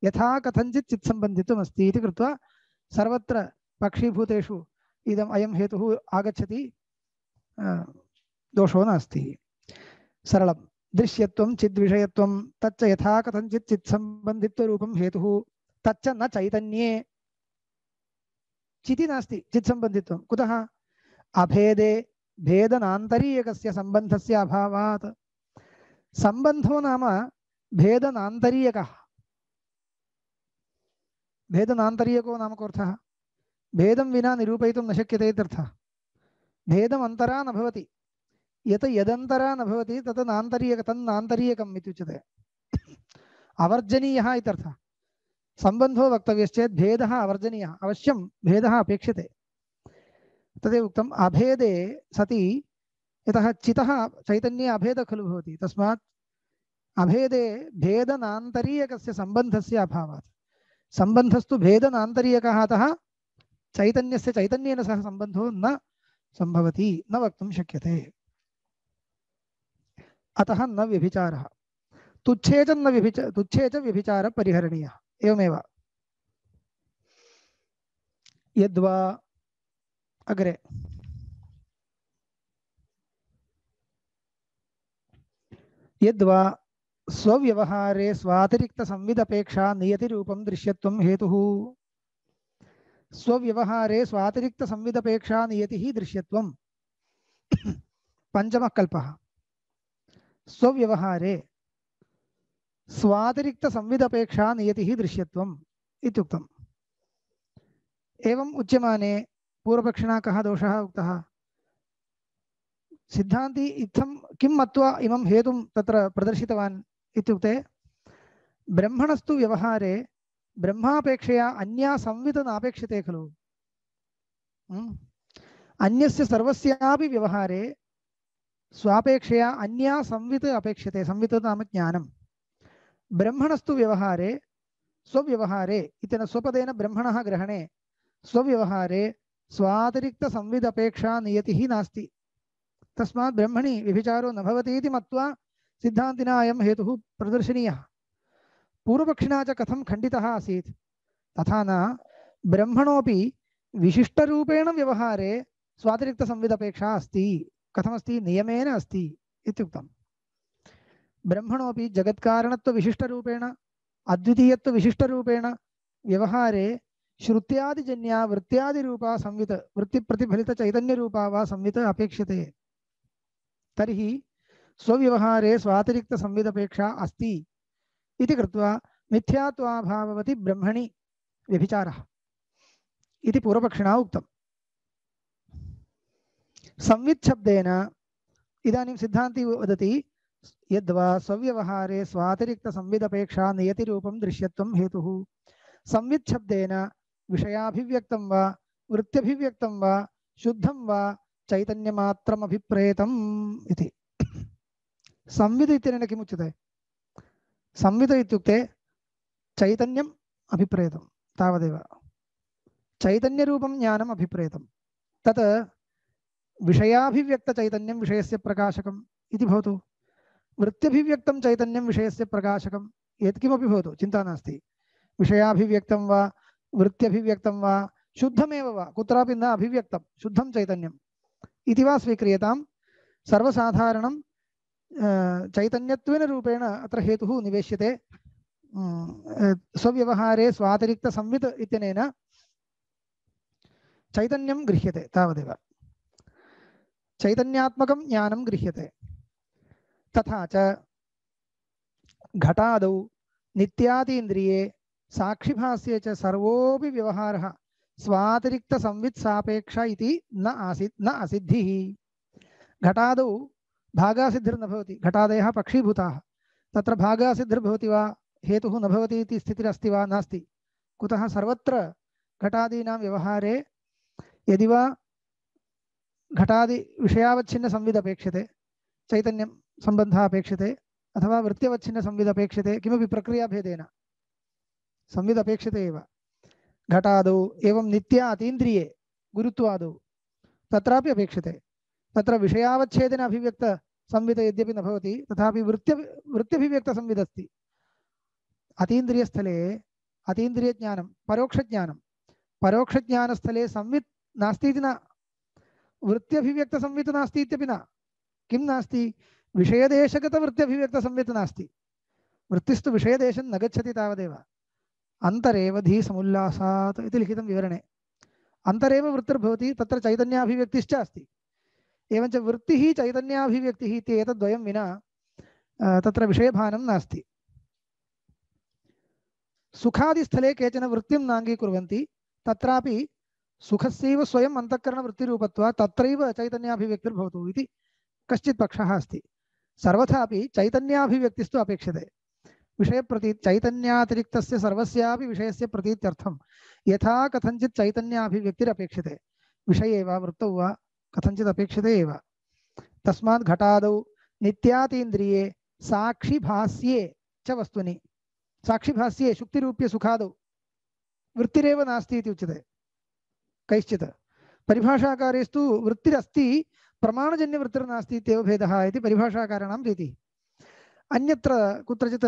यथा कथञ्चित् चित्सम्बन्धित्वम् अस्ति इति कृत्वा सर्वत्र पक्षीभूतेषु इदम् अयं हेतुः आगच्छति दोषो नास्ति सरलं दृश्यत्वं चिद्विषयत्वं तच्च यथा कथञ्चित् चित्सम्बन्धित्वरूपं हेतुः तच्च न चैतन्ये चिति नास्ति चित्सम्बन्धित्वं कुतः अभेदे भेदनान्तरीयकस्य सम्बन्धस्य अभावात् सम्बन्धो नाम भेदनान्तरीयकः भेदनान्तरीयको नाम कोऽर्थः भेदं विना निरूपयितुं न शक्यते इत्यर्थः भेदम् अन्तरा न भवति यत् यदन्तरा न भवति तत् नान्तरीयक तन्नान्तरीयकम् इत्युच्यते अवर्जनीयः इत्यर्थः सम्बन्धो वक्तव्यश्चेत् भेदः अवर्जनीयः अवश्यं भेदः अपेक्षते तदेव उक्तम् अभेदे सति यतः चितः चैतन्ये अभेदः खलु भवति तस्मात् अभेदे भेदनान्तरीयकस्य सम्बन्धस्य अभावात् सम्बन्धस्तु भेदनान्तरीयकः अतः चैतन्यस्य चैतन्येन सह सम्बन्धो न संभवति न वक्तुं शक्यते अतः न व्यभिचारः तुच्छे च व्यभिचारः परिहरणीयः एवमेव यद्वा अग्रे यद्वा स्वव्यवहारे स्वातिरिक्त संविदपेक्षा नियतिरूपं दृश्यत्वं हेतुः स्वव्यवहारे स्वातिरिक्त संविदपेक्षा नियतिः दृश्यत्वं पंचमः कल्पः स्वव्यवहारे स्वातिरिक्त संविदपेक्षा नियतिः दृश्यत्वम् इत्युक्तम् एवम् उच्यमाने पूर्वपक्षिणा कः दोषः उक्तः सिद्धान्ती इत्थं किं मत्वा इमं हेतुं तत्र प्रदर्शितवान् इत्युक्ते ब्रह्मणस्तु व्यवहारे ब्रह्मापेक्षया अन्या संवित् नापेक्षते खलु अन्यस्य सर्वस्यापि व्यवहारे स्वापेक्षया अन्या संवित् अपेक्षते संवित् नाम ज्ञानं ब्रह्मणस्तु व्यवहारे स्वव्यवहारे इत्यनेन स्वपदेन ब्रह्मणः ग्रहणे स्वव्यवहारे स्वातिरिक्त संविदपेक्षा नियतिः नास्ति तस्मात् ब्रह्मणि व्यभिचारो न भवति इति मत्वा सिद्धान्तिना अयं हेतुः प्रदर्शनीयः पूर्वपक्षिणा च कथं खण्डितः आसीत् तथा न ब्रह्मणोपि विशिष्टरूपेण व्यवहारे स्वातिरिक्त संविदपेक्षा अस्ति कथमस्ति नियमेन अस्ति इत्युक्तम् ब्रह्मणोपि जगत्कारणत्व विशिष्टरूपेण अद्वितीयत्व विशिष्टरूपेण व्यवहारे श्रुत्यादिजन्या वृत्त्यादिरूपा संवित् वृत्तिप्रतिफलित चैतन्यरूपा वा संवित् अपेक्षते तर्हि स्वव्यवहारे स्वातिरिक्त संविदपेक्षा अस्ति इति कृत्वा मिथ्यात्वाभाववति ब्रह्मणि व्यभिचारः इति पूर्वपक्षिणा उक्तम् संवित् शब्देन इदानीं सिद्धान्ती वदति यद्वा स्वव्यवहारे स्वातिरिक्त संविदपेक्षा नियतिरूपं दृश्यत्वं हेतुः संवित् शब्देन विषयाभिव्यक्तं वा वृत्त्यभिव्यक्तं वा शुद्धं वा चैतन्यमात्रमभिप्रेतम् इति संवित् इत्यनेन किमुच्यते संवित् इत्युक्ते चैतन्यम् अभिप्रेतं तावदेव चैतन्यरूपं ज्ञानम् अभिप्रेतं तत् विषयाभिव्यक्तचैतन्यं विषयस्य प्रकाशकम् इति भवतु वृत्त्यभिव्यक्तं चैतन्यं विषयस्य प्रकाशकं यत्किमपि भवतु चिन्ता नास्ति विषयाभिव्यक्तं वा वृत्त्यभिव्यक्तं वा शुद्धमेव वा कुत्रापि न अभिव्यक्तं शुद्धं चैतन्यम् इति वा स्वीक्रियतां सर्वसाधारणं चैतन्यत्वेन रूपेण अत्र हेतुः निवेश्यते स्वव्यवहारे स्वातिरिक्त संवित् इत्यनेन चैतन्यं गृह्यते तावदेव चैतन्यात्मकं ज्ञानं गृह्यते तथा च घटादौ नित्यादीन्द्रिये साक्षिभास्ये च सर्वोऽपि व्यवहारः स्वातिरिक्त संवित् सापेक्ष इति न असिद्धिः घटादौ भागासिद्धिर्न भवति घटादयः पक्षीभूताः तत्र भागासिद्धिर्भवति वा हेतुः न भवति इति स्थितिरस्ति वा नास्ति कुतः सर्वत्र घटादीनां व्यवहारे यदि वा घटादि विषयावच्छिन्न संविद अपेक्षते चैतन्यं सम्बन्धः अपेक्षते अथवा वृत्त्यवच्छिन्न संविद अपेक्षते किमपि प्रक्रियाभेदेन संविद अपेक्षते एव घटादौ एवं नित्या अतीन्द्रिये गुरुत्वादौ तत्रापि अपेक्षते तत्र विषयावच्छेदेन अभिव्यक्त संविद यद्यपि न भवति तथापि वृत्त्यभिव्यक्तसंविद अस्ति अतीन्द्रियस्थले अतीन्द्रियज्ञानं परोक्षज्ञानस्थले संवित् नास्ति इति न वृत्त्यभिव्यक्तसंवित् नास्ति इत्यपि न किं नास्ति विषयदेशगतवृत्त्यभिव्यक्तसंवित् नास्ति वृत्तिस्तु विषयदेशं न गच्छति तावदेव अन्तरेव धीसमुल्लासात् इति लिखितं विवरणे अन्तरेव वृत्तिर्भवति तत्र चैतन्याभिव्यक्तिश्च अस्ति एवञ्च वृत्तिः चैतन्याभिव्यक्तिः इति एतद्वयं विना तत्र विषयभानं नास्ति सुखादिस्थले केचन वृत्तिं नाङ्गीकुर्वन्ति तत्रापि सुखस्यैव स्वयम् अन्तःकरणवृत्तिरूपत्वात् तत्रैव चैतन्याभिव्यक्तिर्भवतु इति कश्चित् पक्षः अस्ति सर्वथापि चैतन्याभिव्यक्तिस्तु अपेक्षते विषयप्रती चैतन्यातिरिक्तस्य सर्वस्यापि विषयस्य प्रतीत्यर्थं यथा कथञ्चित् चैतन्याभिव्यक्तिरपेक्षते विषये वा वृत्तौ वा कथञ्चित् अपेक्षते एव तस्मात् घटादौ नित्यातीन्द्रिये साक्षिभास्ये च वस्तुनि साक्षिभास्ये शुक्तिरूप्य सुखादौ वृत्तिरेव नास्ति इति उच्यते कैश्चित् परिभाषाकारेस्तु वृत्तिरस्ति प्रमाणजन्यवृत्तिर्नास्ति इत्येव भेदः इति परिभाषाकाराणां रीतिः अन्यत्र कुत्रचित्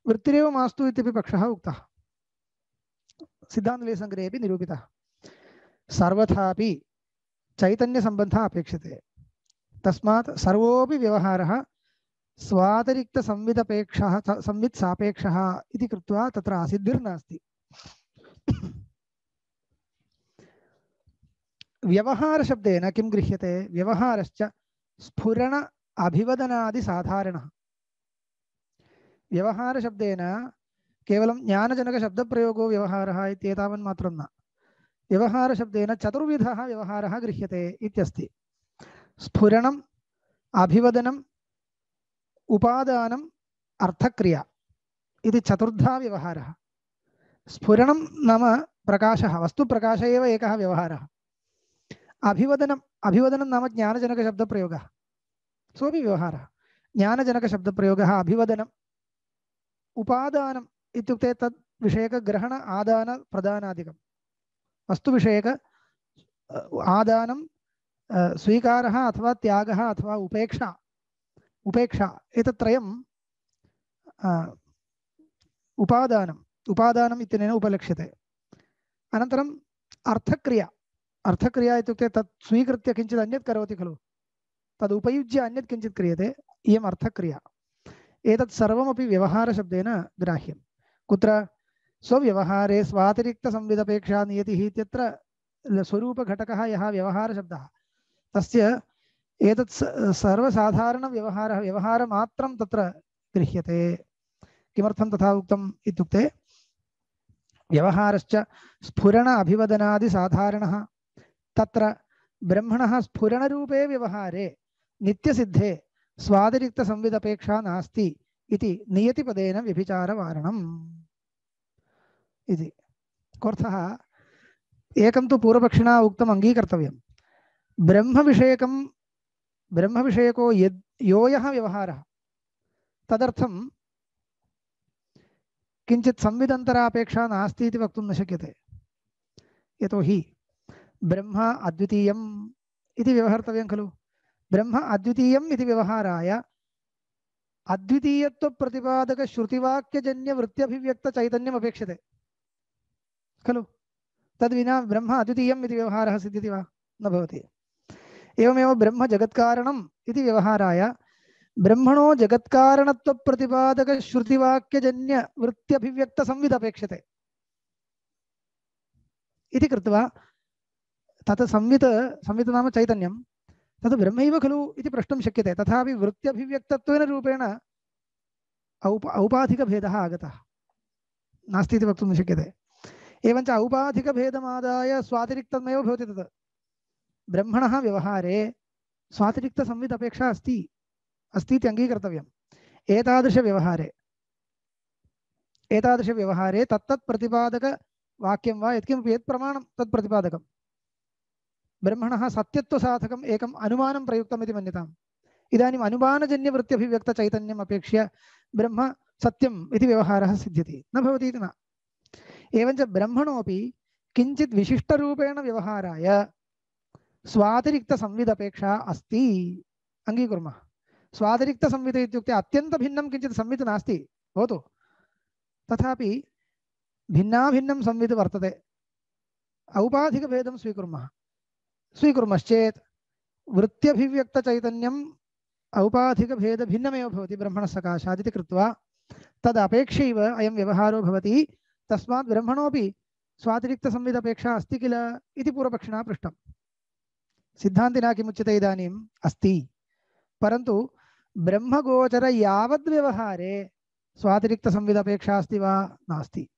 वृत्तिरेव मास्तु इत्यपि पक्षः उक्तः सिद्धान्तलेशसङ्ग्रहेपि निरूपितः सर्वथापि चैतन्यसम्बन्धः अपेक्षते तस्मात् सर्वोऽपि व्यवहारः स्वातिरिक्तसंविदपेक्षः संवित्सापेक्षः इति कृत्वा तत्र आसिद्धिर्नास्ति व्यवहारशब्देन किं गृह्यते व्यवहारश्च स्फुरण अभिवदनादि साधारणः व्यवहारशब्देन केवलं ज्ञानजनकशब्दप्रयोगो व्यवहारः इत्येतावन्मात्रं न व्यवहारशब्देन चतुर्विधः व्यवहारः गृह्यते इत्यस्ति स्फुरणम् अभिवदनम् उपादानम् अर्थक्रिया इति चतुर्धा व्यवहारः स्फुरणं नाम प्रकाशः वस्तुप्रकाश एव एकः व्यवहारः अभिवदनं नाम ज्ञानजनकशब्दप्रयोगः सोऽपि व्यवहारः ज्ञानजनकशब्दप्रयोगः अभिवदनम् उपादानम् इत्युक्ते तद् विषयकग्रहण आदान प्रदानादिकं वस्तुविषयक आदानं स्वीकारः अथवा त्यागः अथवा उपेक्षा एतत्त्रयम् उपादानम् इत्यनेन उपलक्ष्यते अनन्तरम् अर्थक्रिया इत्युक्ते तत् स्वीकृत्य किञ्चित् अन्यत् करोति खलु तद् उपयुज्य अन्यत् किञ्चित् क्रियते इयम् अर्थक्रिया एतत् सर्वमपि व्यवहारशब्देन ग्राह्यं कुत्र स्वव्यवहारे स्वातिरिक्तसंविदपेक्षा नियतिः इत्यत्र स्वरूपघटकः यः व्यवहारशब्दः तस्य एतत् सर्वसाधारणव्यवहारः व्यवहारमात्रं तत्र गृह्यते किमर्थं तथा उक्तम् इत्युक्ते व्यवहारश्च स्फुरण अभिवदनादि साधारणः तत्र ब्रह्मणः स्फुरणरूपे व्यवहारे नित्यसिद्धे स्वातिरिक्तसंविदपेक्षा नास्ति इति नियतिपदेन व्यभिचारवारणम् इति कोऽर्थः एकं तु पूर्वपक्षिणा उक्तम् अङ्गीकर्तव्यं ब्रह्मविषयको यो यः व्यवहारः तदर्थं किञ्चित् संविदन्तरापेक्षा नास्ति इति वक्तुं न शक्यते यतोहि ब्रह्म अद्वितीयम् इति व्यवहर्तव्यं खलु ब्रह्म अद्वितीयम् इति व्यवहाराय अद्वितीयत्वप्रतिपादकश्रुतिवाक्यजन्यवृत्त्यभिव्यक्तचैतन्यम् अपेक्षते खलु तद्विना ब्रह्म अद्वितीयम् इति व्यवहारः सिद्ध्यति वा न भवति एवमेव ब्रह्म जगत्कारणम् इति व्यवहाराय ब्रह्मणो जगत्कारणत्वप्रतिपादकश्रुतिवाक्यजन्यवृत्त्यभिव्यक्तसंविदपेक्षते इति कृत्वा तत् संवित् नाम चैतन्यं तद् ब्रह्मैव खलु इति प्रष्टुं शक्यते तथापि वृत्त्यभिव्यक्तत्वेन रूपेण औपाधिकभेदः आगतः नास्ति इति वक्तुं न शक्यते एवञ्च औपाधिकभेदमादाय स्वातिरिक्तमेव भवति तत् ब्रह्मणः व्यवहारे स्वातिरिक्तसंविदपेक्षा अस्ति इति अङ्गीकर्तव्यम् एतादृशव्यवहारे एतादृशव्यवहारे तत्तत् प्रतिपादकवाक्यं वा यत्किमपि यत् प्रमाणं तत् प्रतिपादकं ब्रह्मणः सत्यत्वसाधकम् एकम् अनुमानं प्रयुक्तम् इति मन्यताम्। इदानीम् अनुमानजन्यवृत्त्यभिव्यक्तचैतन्यम् अपेक्ष्य ब्रह्म सत्यम् इति व्यवहारः सिद्ध्यति न भवति इति न। एवञ्च ब्रह्मणोऽपि किञ्चित् विशिष्टरूपेण व्यवहाराय स्वातिरिक्तसंविदपेक्षा अस्ति अङ्गीकुर्मः। स्वातिरिक्तसंविद इत्युक्ते अत्यन्तभिन्नं किञ्चित् संवित् नास्ति भवतु, तथापि भिन्नाभिन्नं संवित् वर्तते। औपाधिकभेदं स्वीकुर्मश्चेत् वृत्त्यभिव्यक्तचैतन्यम् औपाधिकभेदभिन्नमेव भवति ब्रह्मणः सकाशादिति कृत्वा तदपेक्षैव अयं व्यवहारो भवति। तस्मात् ब्रह्मणोऽपि स्वातिरिक्तसंविदपेक्षा अस्ति किल इति पूर्वपक्षिणा पृष्टम्। सिद्धान्तिना किमुच्यते इदानीम् अस्ति, परन्तु ब्रह्मगोचर यावद्व्यवहारे स्वातिरिक्तसंविदपेक्षा अस्ति वा नास्ति।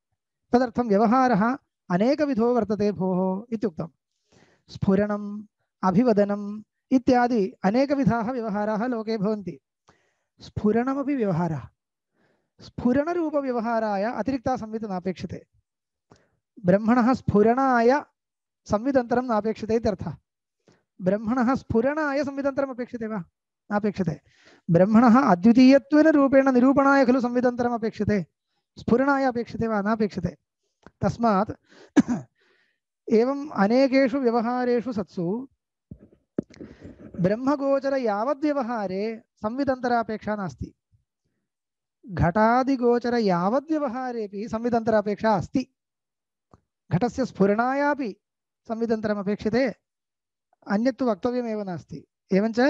तदर्थं व्यवहारः अनेकविधो वर्तते भोः इत्युक्तं। स्फुरणम् अभिवदनम् इत्यादि अनेकविधाः व्यवहाराः लोके भवन्ति। स्फुरणमपि व्यवहारः, स्फुरणरूपव्यवहाराय अतिरिक्ता संवित् नापेक्षते। ब्रह्मणः स्फुरणाय संविदन्तरं नापेक्षते इत्यर्थः। ब्रह्मणः स्फुरणाय संविदन्तरम् अपेक्षते वा नापेक्षते। ब्रह्मणः अद्वितीयत्वेन रूपेण निरूपणाय खलु संविदन्तरम् अपेक्षते, स्फुरणाय अपेक्षते वा नापेक्षते। तस्मात् एवम् अनेकेषु व्यवहारेषु सत्सु ब्रह्मगोचर यावद्व्यवहारे संविदन्तरापेक्षा नास्ति। घटादिगोचर यावद्व्यवहारेपि संविदन्तरापेक्षा अस्ति। घटस्य स्फुरणायापि संविदन्तरम् अपेक्षते, अन्यत्तु वक्तव्यमेव नास्ति। एवञ्च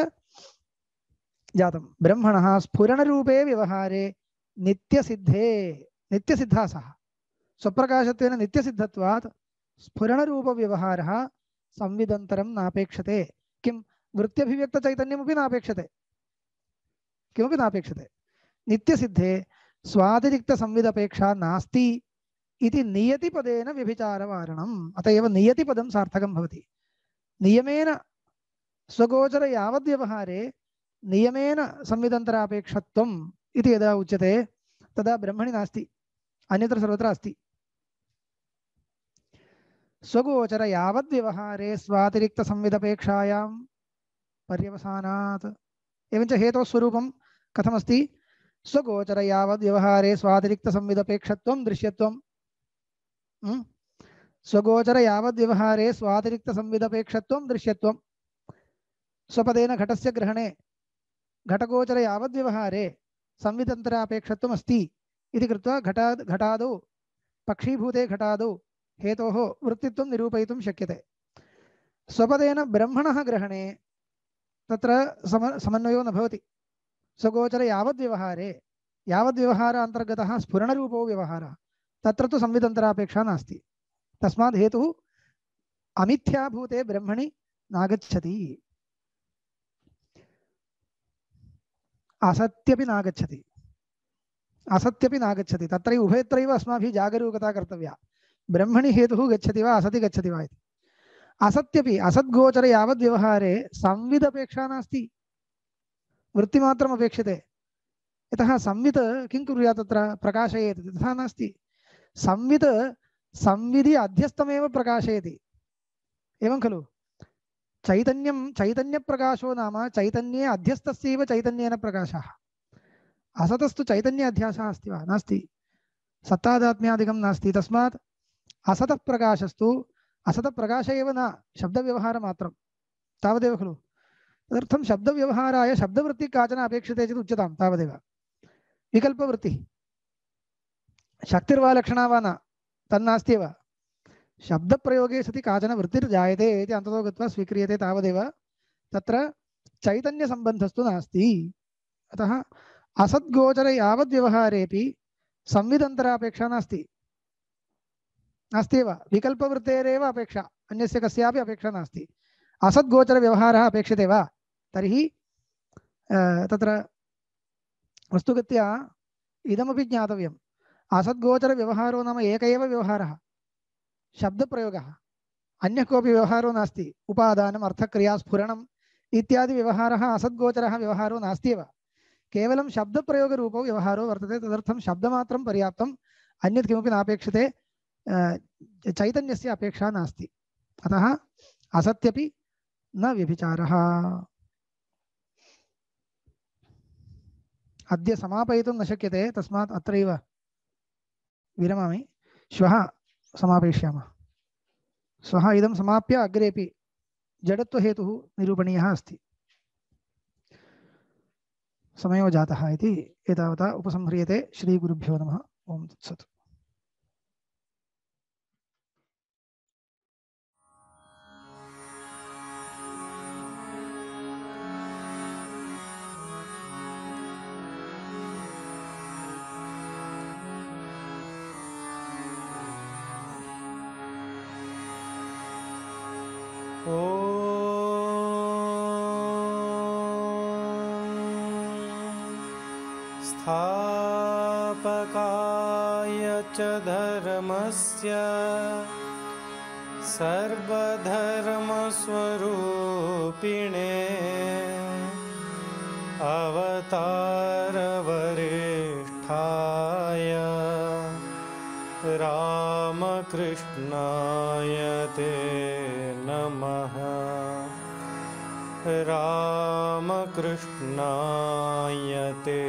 जातं ब्रह्मणः स्फुरणरूपे व्यवहारे नित्यसिद्धा सः स्वप्रकाशत्वेन नित्यसिद्धत्वात् स्फुरणरूपव्यवहारः संविदन्तरं नापेक्षते। किं वृत्त्यभिव्यक्तचैतन्यमपि नापेक्षते, किमपि नापेक्षते। नित्यसिद्धे स्वातिरिक्तसंविदपेक्षा नास्ति इति नियतिपदेन व्यभिचारवारणम्। अत एव नियतिपदं सार्थकं भवति। नियमेन स्वगोचर यावद्व्यवहारे नियमेन संविदन्तरापेक्षत्वम् इति यदा उच्यते तदा ब्रह्मणि नास्ति, अन्यत्र सर्वत्र अस्ति। स्वगोचर यावद्व्यवहारे स्वातिरिक्तसंविदपेक्षायां पर्यवसानात्। एवञ्च हेतोः स्वरूपं कथमस्ति? स्वगोचर यावद्व्यवहारे स्वातिरिक्तसंविदपेक्षत्वं दृश्यत्वं। स्वगोचर यावद्व्यवहारे स्वातिरिक्तसंविदपेक्षत्वं दृश्यत्वं। स्वपदेन घटस्य ग्रहणे घटगोचर यावद्व्यवहारे संविदन्तरापेक्षत्वम् अस्ति इति कृत्वा घटादौ पक्षीभूते घटादौ हेतोः वृत्तित्वं निरूपयितुं शक्यते। स्वपदेन ब्रह्मणः ग्रहणे तत्र समन्वयो न भवति। स्वगोचर यावद्व्यवहारे यावद्व्यवहारान्तर्गतः स्फुरणरूपो व्यवहारः, तत्र तु संविदन्तरापेक्षा नास्ति। तस्मात् हेतुः अमिथ्याभूते ब्रह्मणि नागच्छति, असत्यपि नागच्छति, असत्यपि नागच्छति। तत्र उभयत्रैव अस्माभिः जागरूकता कर्तव्या। ब्रह्मणि हेतुः गच्छति वा असति गच्छति वा इति। असत्यपि असद्गोचर यावद्व्यवहारे संविदपेक्षा नास्ति, वृत्तिमात्रम् अपेक्षते। यतः संवित् किं कुर्यात् तत्र प्रकाशयेत्, तथा नास्ति। संवित् संविधि अध्यस्तमेव प्रकाशयति, एवं खलु। चैतन्यं चैतन्यप्रकाशो नाम चैतन्ये अध्यस्तस्यैव चैतन्येन प्रकाशः। असतस्तु चैतन्य अध्यासः अस्ति वा नास्ति, सत्तादात्म्यादिकं नास्ति। तस्मात् असतः प्रकाशस्तु असतप्रकाश एव न, शब्दव्यवहारमात्रं तावदेव खलु। तदर्थं शब्दव्यवहाराय शब्दवृत्तिः काचन अपेक्षते चेत् उच्यतां तावदेव। विकल्पवृत्तिः शक्तिर्वा लक्षणा वा न तन्नास्त्येव। शब्दप्रयोगे सति काचन वृत्तिर्जायते इति अन्ततो गत्वा स्वीक्रियते तावदेव, तत्र चैतन्यसम्बन्धस्तु नास्ति। अतः असद्गोचर यावद्व्यवहारेपि संविदन्तरापेक्षा नास्ति, नास्त्येव। विकल्पवृत्तेरेव अपेक्षा, अन्यस्य कस्यापि अपेक्षा नास्ति। असद्गोचरव्यवहारः अपेक्षते वा तर्हि तत्र वस्तुगत्या इदमपि ज्ञातव्यम्। असद्गोचरव्यवहारो नाम एक एव व्यवहारः, शब्दप्रयोगः, अन्यः कोऽपि व्यवहारो नास्ति। उपादानम् अर्थक्रिया स्फुरणम् इत्यादि व्यवहारः असद्गोचरः व्यवहारो नास्त्येव। केवलं शब्दप्रयोगरूपो व्यवहारो वर्तते। तदर्थं शब्दमात्रं पर्याप्तम्, अन्यत् किमपि नापेक्षते, चैतन्यस्य अपेक्षा नास्ति। अतः असत्यपि न व्यभिचारः। अद्य समापयितुं न शक्यते, तस्मात् अत्रैव विरमामि। श्वः समापयिष्यामः। श्वः इदं समाप्य अग्रेपि जडत्वहेतुः निरूपणीयः अस्ति। समयो जातः इति एतावता उपसंह्रियते। श्रीगुरुभ्यो नमः। ओम तत्सत्। स्थापकाय च धर्मस्य सर्वधर्मस्वरूपिणे अवतारवरिष्ठाय रामकृष्णाय ते नमः। रामकृष्णाय ते